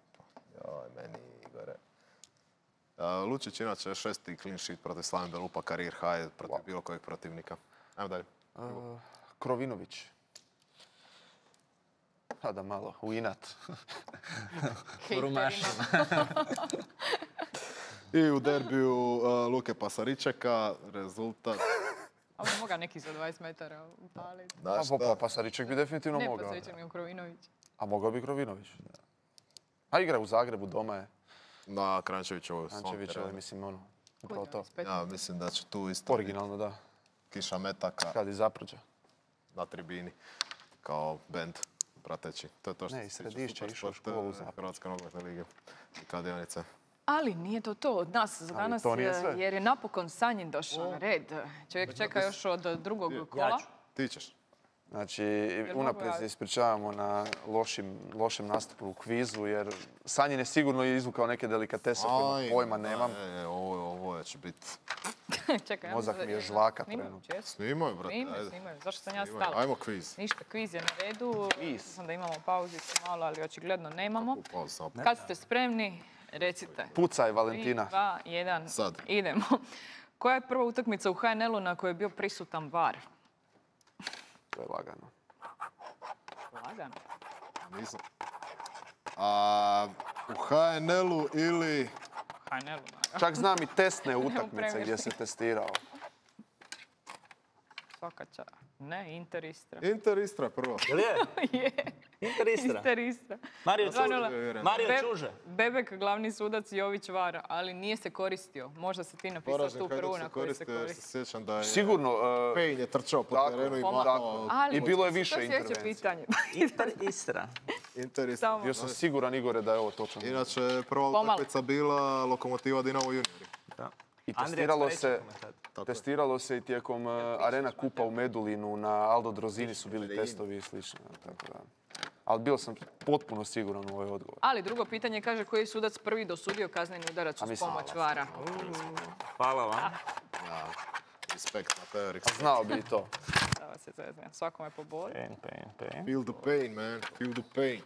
joj, meni Igore. Lučić inače 6. clean sheet protiv Slaven Belupa, karijer high protiv bilo kojeg protivnika. Ajmo dalje. Krovinović. A da malo, u inat. Rumašima. I u derbiju Luke Pasaričeka, rezultat... A moga neki za 20 metara upaliti. Na šta? Pasariček bi definitivno Ne mogao. Pasaričan, nego Krovinović. A mogao bi Krovinović. A igra u Zagrebu, doma je. Na Krančevićevoj svom Ančević, terenu. mislim, ono, upravo to. Ja mislim da će tu isto Originalno, da. kiša metaka Kad iz Zaprođa. na tribini kao bend prateći. To je to što Ne, iz se tiče Središća išao u Supersport, školu u Zapređu. Hrvatske nogometne lige i kladionice. Ali nije to od nas za danas, to nije sve. jer je napokon Sanjin došao na red. Čovjek čeka još od drugog kola. Ti ćeš. Znači, mogu unaprijed se ja? ispričavamo na lošem nastupu u kvizu, jer Sanjin je sigurno izvukao neke delikatese koje pojma nemam. Ovo će biti... Čekaj, Mozak mi je žvaka Snimaju, trenutno. često. Snimaju, brate, ajde. Snimaju. Zašto sam ja Snimaju. stala? Ajmo kviz. Ništa, kviz je na redu. Kviz. Sam da imamo pauzicu malo, ali očigledno nemamo. Pauzu samo. Kad ste spremni, recite. Pucaj, 3, Valentina. 2, 1, Sad. idemo. Koja je prva utakmica u HNL-u na kojoj je bio prisutan VAR? To je lagano. Lagano. Nisam. U HNL-u ili... HNL-u, naravno. Čak znam i testne utakmice premijer. gdje se testirao. Svaka čast. Ne, Inter Istra. Inter Istra prvo. Jel je? Je. Inter Istra. Mario Čuže. Bebek, glavni sudac, Jović VAR, ali nije se koristio. Možda si ti napisao tu prvu na koju se Ja se koristi. sjećam da je Sigurno, Payne je trčao po tako, terenu i tako. mahao. Ali I bilo je to više sljedeće intervencija. pitanje. Inter Istra. Inter Istra. Samo. Bio sam siguran, Igore, da je ovo točno. Inače, prva Pomalo. utakmica bila Lokomotiva Dinamo juniori. Da. I Andrija testiralo Cvejić se, je komentator. testiralo se i tijekom Arena Kupa u Medulinu, na Aldo Drozini su bili testovi i slično. Tako da. Ali bio sam potpuno siguran u ovaj odgovor. Ali drugo pitanje kaže koji je sudac prvi dosudio kazneni udarac uz mislim- pomoć VAR-a. Hvala vam. Ja, respekt na teoriji. Znao bi i to. Da vas se zezne. Svakome po bodu. Pen. Feel the pain, man. Feel the pain.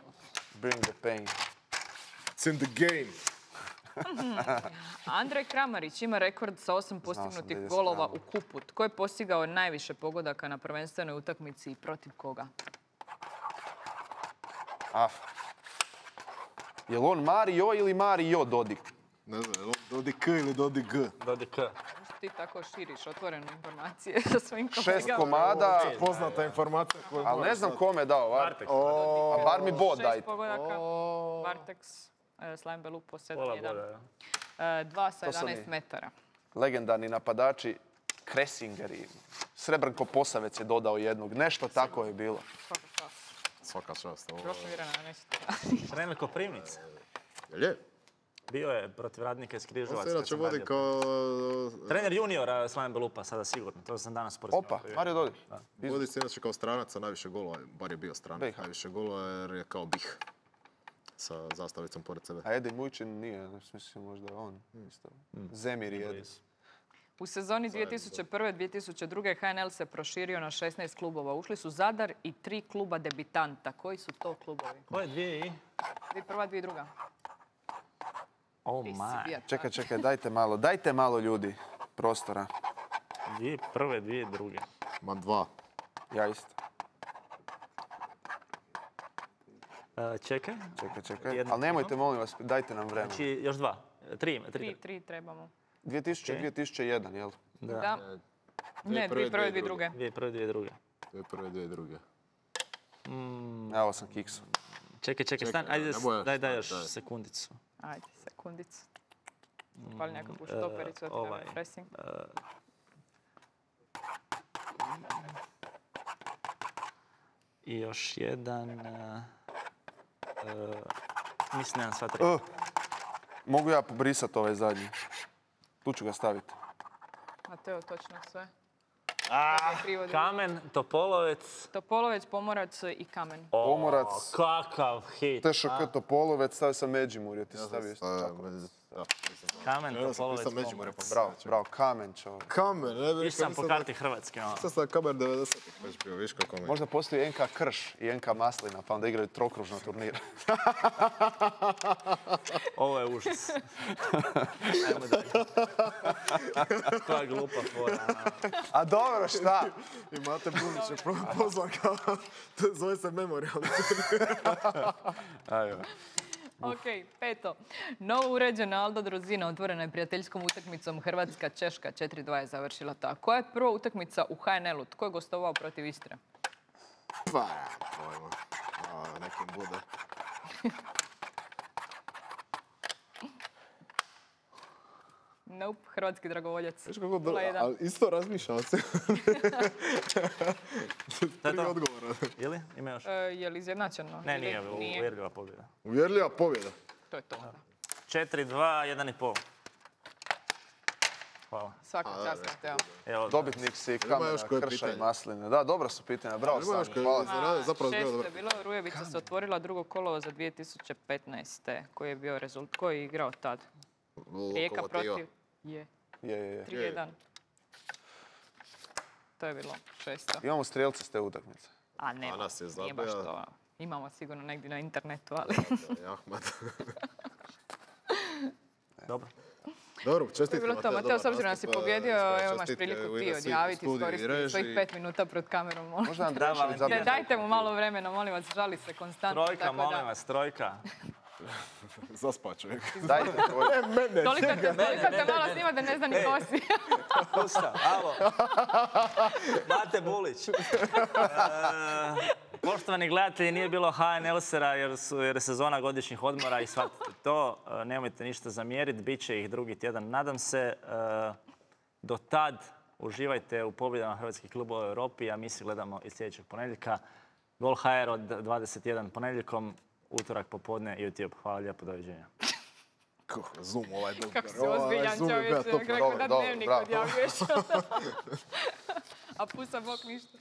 Bring the pain. It's in the game. Andrej Kramarić ima rekord sa 8 postignutih da ide s golova Kramom. u kupu. Tko je postigao najviše pogodaka na prvenstvenoj utakmici i protiv koga? Jel on Mario ili Mario Dodik? Ne znam, je li Dodi K ili Dodi G? Dodi K. Ti tako širiš otvorene informacije sa svojim 6 kolegama. komada, Poznata informacija koju ali ne znam kome je dao. Bartek. A bar mi bod 6 dajte. pogodaka. Barteks, Slajn Belupo, Pola 7-1. boda. 2 sa To sam 11 i- metara. Legendarni napadači Kresinger i Srebrnko Posavec je dodao jednog. Nešto tako je bilo. Svaka čast. Svaka čast. ovo. Prošlo Irana, nećete. Trener Koprivnice. Jel je? Bio je protiv Radnika iz On Križevaca. se kad inače sam vodi radio. kao... Trener juniora Slaven Belupa, sada sigurno. To sam danas sporazumio. Opa, Mario Dodik. Vodi se inače kao stranac sa najviše golova, bar je bio stranac, BiH. najviše golova jer je kao bih sa zastavicom pored sebe. A Edi Mujčin nije, mislim možda on. Isto. Zemir je Edi. U sezoni 2001-2002 HNL se proširio na 16 klubova. Ušli su Zadar i 3 kluba debitanta. Koji su to klubovi? Koje dvije i? 2001, 2002. Oh Ti si my. bio Čekaj, dajte malo ljudi prostora. 2001, 2002. Ma dva. Ja isto. Čekaj. Čekaj. Jedno Ali nemojte, molim vas, dajte nam vremena. Znači, još dva. Tri. 3 trebamo. 2000, 2001, jel? Da. Ne, 2001, 2002. 2001, 2002. 2001, 2002. Evo sam kiksu. Čekaj, stani. Ajde, ne bojaš, daj još daj. sekundicu. Ajde, sekundicu. Pali nekakvu štopericu, da ovaj. ti pressing. I još jedan... mislim, nemam sva tri. Mogu ja pobrisati ovaj zadnji? Tu ću ga staviti. Mateo, točno sve. Kamen, Topolovec. Topolovec, Pomorac i Kamen. Pomorac, Kakav hit. TŠK Topolovec, stavio sam Međimurje, ti stavio isto tako. Kamen, Topolovac, Međimurje, Pomorac. Bravo, Kamen čovjek. Kamen, ne bih Išao sam po karti Hrvatske. ono. Sad sam Kamen 90-ih već bio, viš kako me. Možda postoji NK Krš i NK Maslina, pa onda igraju trokružno turnir. Ovo je užas. Ajmo dalje. Koja glupa fora. A dobro, šta? I Mate Bunić je pozvan kao, zove se Memorial. Ajde. Ok, 5. Novo uređena Aldo Drozina otvorena je prijateljskom utakmicom Hrvatska-Češka. 4-2 je završila ta. Koja je prva utakmica u HNL-u? Tko je gostovao protiv Istre? Pa, pojma. Nekim bude. Nope, hrvatski dragovoljac. Viš kako 0-1. ali isto razmišljam se. Tri to. odgovora. Ili? Ima još? Je li izjednačeno? Ne, Ili- nije. Uvjerljiva pobjeda. Uvjerljiva pobjeda. To je to. 4-2, 1,5. Hvala. Svaka čast, Mateo. Evo, Dobitnik si još Kamena, koje Krša i pitanje? Masline. Da, dobra su pitanja, bravo Ima još Sanja, koje hvala. se radi, zapravo zbilja 6 dobro. je bilo, Rujevica se otvorila drugo kolo za 2015. Koji je bio rezultat? Koji je igrao tad? Rijeka Lokomotiva. protiv... Je. Je. 3-1. To je bilo 6. Imamo strijelce s te utakmice. A ne, A nas je nije baš zabija. to. Imamo sigurno negdje na internetu, ali... Ahmad. dobro. Dobro, To je čestitke. bilo to. Mateo, s obzirom da si pobjedio, evo imaš čestitke priliku u ti ime svih odjaviti, studiju i iskoristiti svojih režiji. 5 minuta pred kamerom. molim. Možda Andrešević Valentina. zabije. Dajte mu malo vremena, molim vas, žali se konstantno. Trojka, tako da- molim vas, trojka. Zaspa čovjek. Dajte tvoj. Toliko te malo snima da ne zna ni ko si. Pusta, alo. Mate Bulić. Poštovani gledatelji, nije bilo HNL-sera jer je sezona godišnjih odmora i shvatite to. Nemojte ništa zamjeriti, bit će ih drugi tjedan, nadam se. Do tad uživajte u pobjedama hrvatskih klubova u Europi, a mi se gledamo i sljedećeg ponedjeljka. Gol HR od 21 ponedjeljkom, utorak popodne YouTube. Hvala lijepo, doviđenja. Zoom ovaj dobro. Kako si ozbiljan čovječe, kako da dnevnik odjavljuješ. A pusa bok ništa.